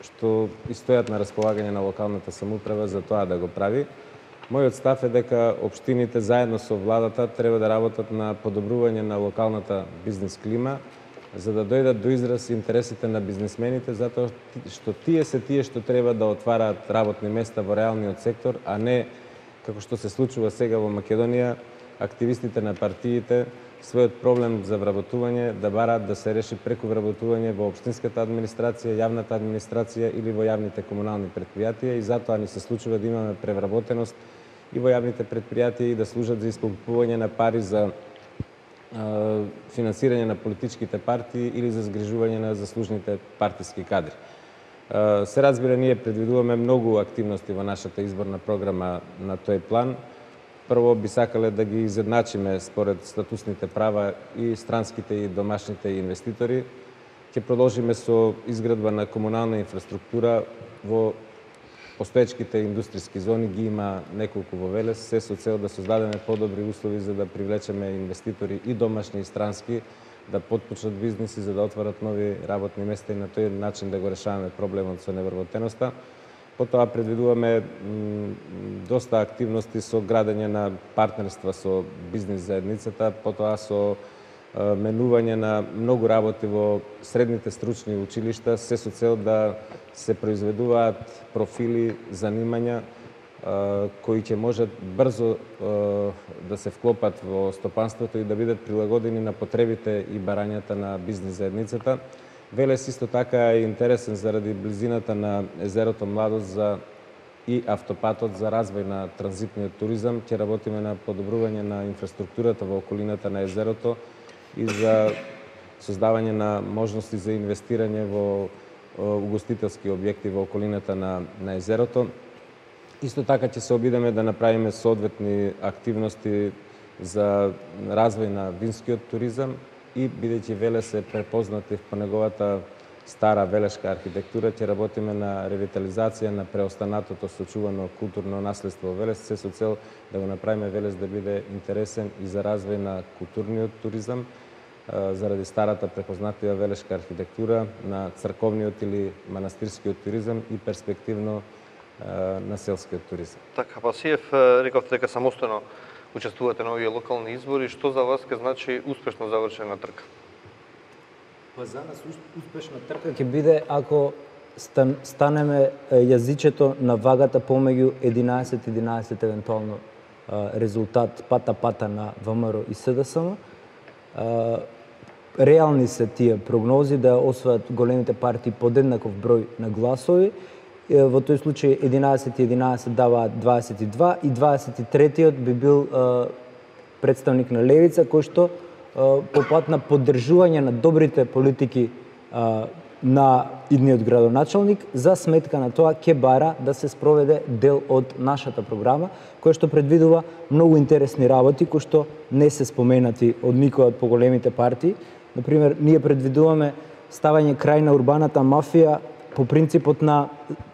што и стојат на располагање на локалната самоуправа за тоа да го прави. Мојот став е дека општините заедно со владата треба да работат на подобрување на локалната бизнес клима, за да дојдат до израз интересите на бизнисмените, затоа што тие се тие што треба да отвараат работни места во реалниот сектор, а не, како што се случува сега во Македонија, активистите на партиите својот проблем за вработување да бараат да се реши преку вработување во општинската администрација, јавната администрација или во јавните комунални претпријатија, и затоа ни се случува да имаме превработеност и во јавните претпријатија и да служат за исполнување на пари за финансирање на политичките партии или за згрижување на заслужните партиски кадри. Се разбира, ние предвидуваме многу активности во нашата изборна програма на тој план. Прво би сакале да ги изедначиме според статусните права и странските и домашните инвеститори. Ќе продолжиме со изградба на комунална инфраструктура во постоечките индустријски зони, ги има неколку во Велес, се со цел да создадеме подобри услови за да привлечеме инвеститори и домашни и странски, да потпочнат бизниси за да отварат нови работни места и на тој начин да го решаваме проблемот со невработеноста. Потоа предвидуваме доста активности со градење на партнерства со бизнис заедницата, потоа со менување на многу работи во средните стручни училишта, се со цел да се произведуваат профили, занимања кои ќе можат брзо да се вклопат во стопанството и да бидат прилагодени на потребите и барањата на бизнис заедницата. Велес исто така е интересен заради близината на езерото Младост за и автопатот за развој на транзитниот туризам. Ќе работиме на подобрување на инфраструктурата во околината на езерото и за создавање на можности за инвестирање во угостителски објекти во околината на, на езерото. Исто така ќе се обидеме да направиме соодветни активности за развој на винскиот туризам и бидејќи Велес е препознатив по неговата стара велешка архитектура, ќе работиме на ревитализација на преостанатото сочувано културно наследство во Велес, се со цел да го направиме Велес да биде интересен и за развој на културниот туризам, заради старата препознатива велешка архитектура, на црковниот или манастирскиот туризам и перспективно на селскиот туризам. Така, Пасиев, рековте дека самостојно учествувате на овие локални избори, што за вас ќе значи успешно завршена трка? Па за нас успешна трка ќе биде ако стан, станеме јазичето на вагата помеѓу единаесет единаесет евентуално резултат пата-пата на ВМРО и СДСМ. Реални се тие прогнози да освојат големите партии подеднаков број на гласови. Во тој случај единаесет единаесет даваат дваесет и два и дваесет и третиот би бил представник на левица кој што по пат на поддржување на добрите политики на идниот градоначалник за сметка на тоа ќе бара да се спроведе дел од нашата програма која што предвидува многу интересни работи кои што не се споменати од никој од поголемите партии. Например, ние предвидуваме ставање крај на урбаната мафија по принципот на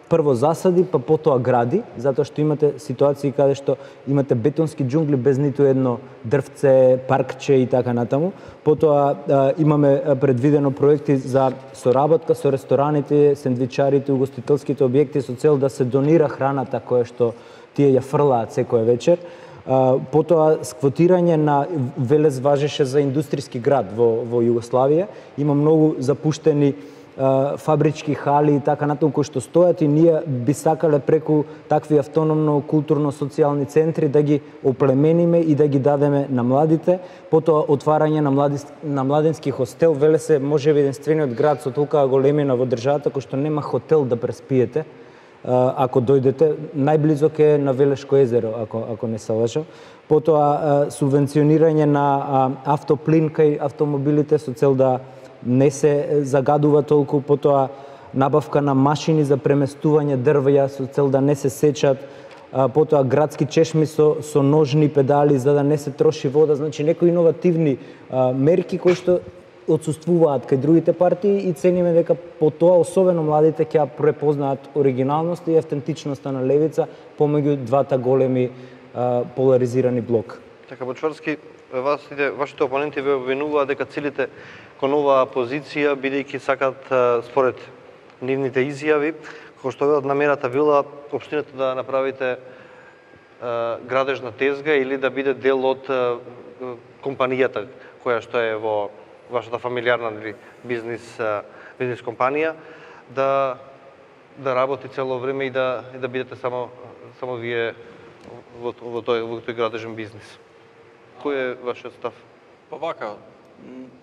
прво засади, па потоа гради, затоа што имате ситуации каде што имате бетонски џунгли без ниту едно дрвце, паркче и така натаму. Потоа а, имаме предвидено проекти за соработка со рестораните, сендвичарите, угостителските објекти со цел да се донира храната која што тие ја фрлаат секоја вечер. А, потоа сквотирање на Велес важеше за индустријски град во, во Југославија. Има многу запуштени фабрички хали и така натаму кои што стојат и ние би сакале преку такви автономно културно-социјални центри да ги оплемениме и да ги дадеме на младите. Потоа отварање на, млади, на младенски хостел. Велес е можеби единствениот град со толкава големина во државата кој што нема хотел да преспиете. Ако дојдете, најблизок е на Велешко езеро, ако, ако не се лажам. Потоа субвенционирање на автоплин кај автомобилите со цел да не се загадува толку, потоа набавка на машини за преместување дрвја со цел да не се сечат, потоа градски чешми со, со ножни педали за да не се троши вода, значи некои иновативни а, мерки кои што отсуствуваат кај другите партии и цениме дека по тоа особено младите ќе препознаат оригиналноста и автентичноста на левица помеѓу двата големи а, поларизирани блока. Така, Бочварски, вашите, вашите опоненти ве обвинуваат дека целите кон оваа позиција, бидејќи сакат според нивните изјави, кој што велат намерата била општината да направите градежна тезга или да биде дел од компанијата која што е во вашата фамилиарна бизнис бизнис компанија, да да работи цело време и да и да бидете само само вие во, во тој во тој градежен бизнис. Кој е вашиот став? Па вака,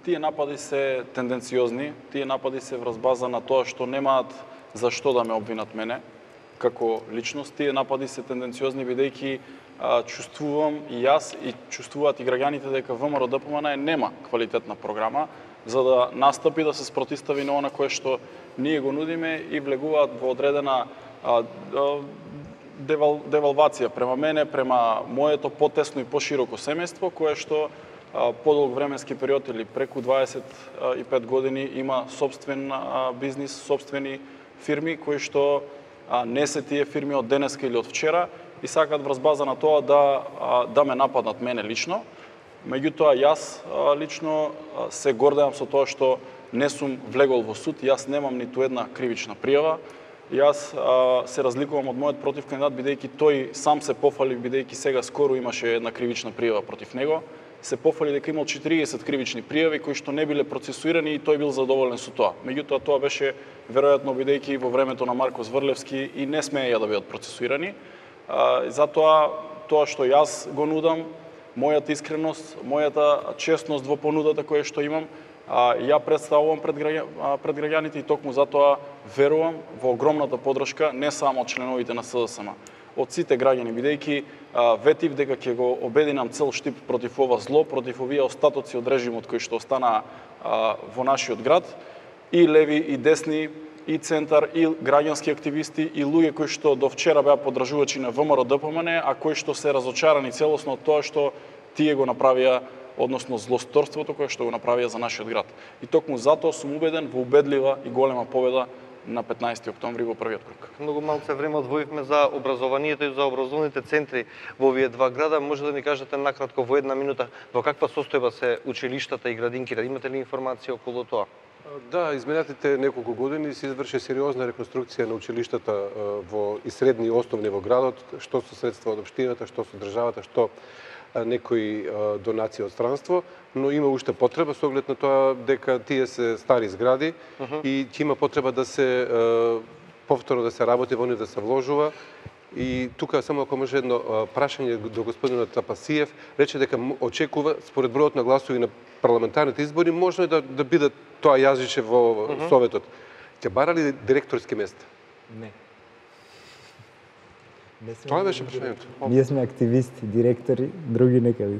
тие напади се тенденциозни, тие напади се врз база на тоа што немаат за што да ме обвинат мене како личност. Тие напади се тенденциозни бидејќи чувствувам и јас и чувствуваат и граѓаните дека ВМРО ДПМН нема квалитетна програма за да настапи да се спротистави на она кое што ние го нудиме и влегуваат во одредена а, а, девал, девалвација према мене, према моето потесно и пошироко семејство, кое што а, подолг временски период или преку дваесет и пет години има собствен а, бизнис, собствени фирми кои што а, не се тие фирми од денеска или од вчера и сакаат врз база на тоа да а, да ме нападнат мене лично. Меѓутоа, јас а, лично а, се гордеам со тоа што не сум влегол во суд, јас немам ниту една кривична пријава. Јас а, се разликувам од мојот против кандидат, бидејќи тој сам се пофали, бидејќи сега скоро имаше една кривична пријава против него. Се пофали дека имал четириесет кривични пријави кои што не биле процесуирани и тој бил задоволен со тоа. Меѓутоа, тоа беше веројатно бидејќи во времето на Марко Зврлевски и не смеја да бидат процесуирани. А, затоа, тоа што јас го нудам, мојата искреност, мојата честност во понудата која што имам, а, ја представувам пред, граѓа, пред граѓаните и токму затоа верувам во огромната поддршка не само од членовите на СДСМ, од сите граѓани, бидејќи ветив дека ќе го обединам цел штип против ова зло, против овие остатоци од режимот кои што останаа во нашиот град, и леви и десни, и центар, и граѓански активисти, и луѓе кои што до вчера беа поддржувачи на ВМРО ДПМН, а кои што се разочарани целосно од тоа што тие го направија, односно злосторството кое што го направија за нашиот град. И токму затоа сум убеден во убедлива и голема победа на петнаесети октомври во првиот круг. Многу малце време одвоивме за образованието и за образовните центри во овие два града. Може да ми кажете накратко во една минута во каква состојба се училиштата и градинките? Имате ли информација околу тоа? Да, изминатите неколку години се изврши сериозна реконструкција на училиштата во и средни и основни во градот, што со средства од општината, што со државата, што некои донации од странство, но има уште потреба со оглед на тоа дека тие се стари згради uh -huh. и ќе има потреба да се повторно да се работи во нив, да се вложува. И тука само ако може едно прашање до господинот Тапасиев, рече дека очекува според бројот на гласови на парламентарните избори можно да да биде тоа јазиче во uh -huh. Советот. Ќе барали директорски места? Не. Тоа беше прашањето. Ние сме активисти, директори, други некаде.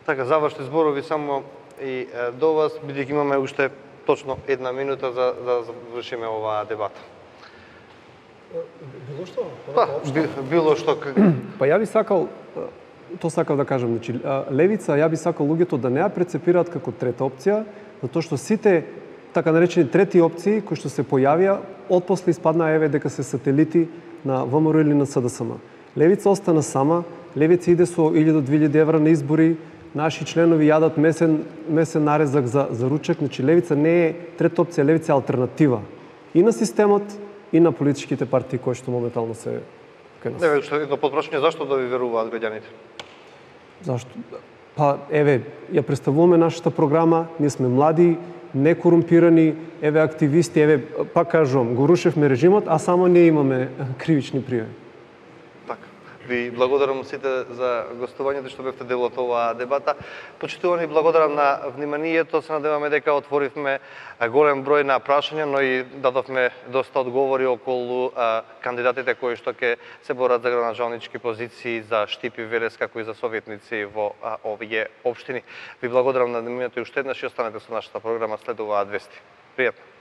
Така, завршни зборови само и до вас, бидејќи имаме уште точно една минута за да завршиме оваа дебата. Било што? Па, било што. Па ја би сакал, тоа сакав да кажам, значи левица, ја би сакал луѓето да не ја прецепираат како трета опција, затоа што сите така наречени трети опции кои што се појавија, отпосле испаднаа еве дека се сателити на ВМРО или на СДСМ. Левица остана сама, левица иде со илјада до две илјади евра на избори, наши членови јадат месен месен нарезак за за ручек, значи левица не е трета опција, левица е алтернатива и на системот и на политичките партии кои што моментално се кај нас. Еве што едно подпрашање, зашто да ви веруваат граѓаните? Зашто? Па еве, ја представуваме нашата програма, ние сме млади, некорумпирани, еве активисти, еве пак кажувам, го рушевме режимот, а само ние имаме кривични пријави. Така. Ви благодарам сите за гостувањето што бевте дел од оваа дебата. Почитувани, благодарам на вниманието. Се надеваме дека отворивме голем број на прашања, но и дадовме доста одговори околу а, кандидатите кои што ќе се борат за градоначалнички позиции, за Штипи Велес, како и за советници во а, овие општини. Ви благодарам на вниманието и уште еднаш и останете со нашата програма след оваа вести. Пријатно.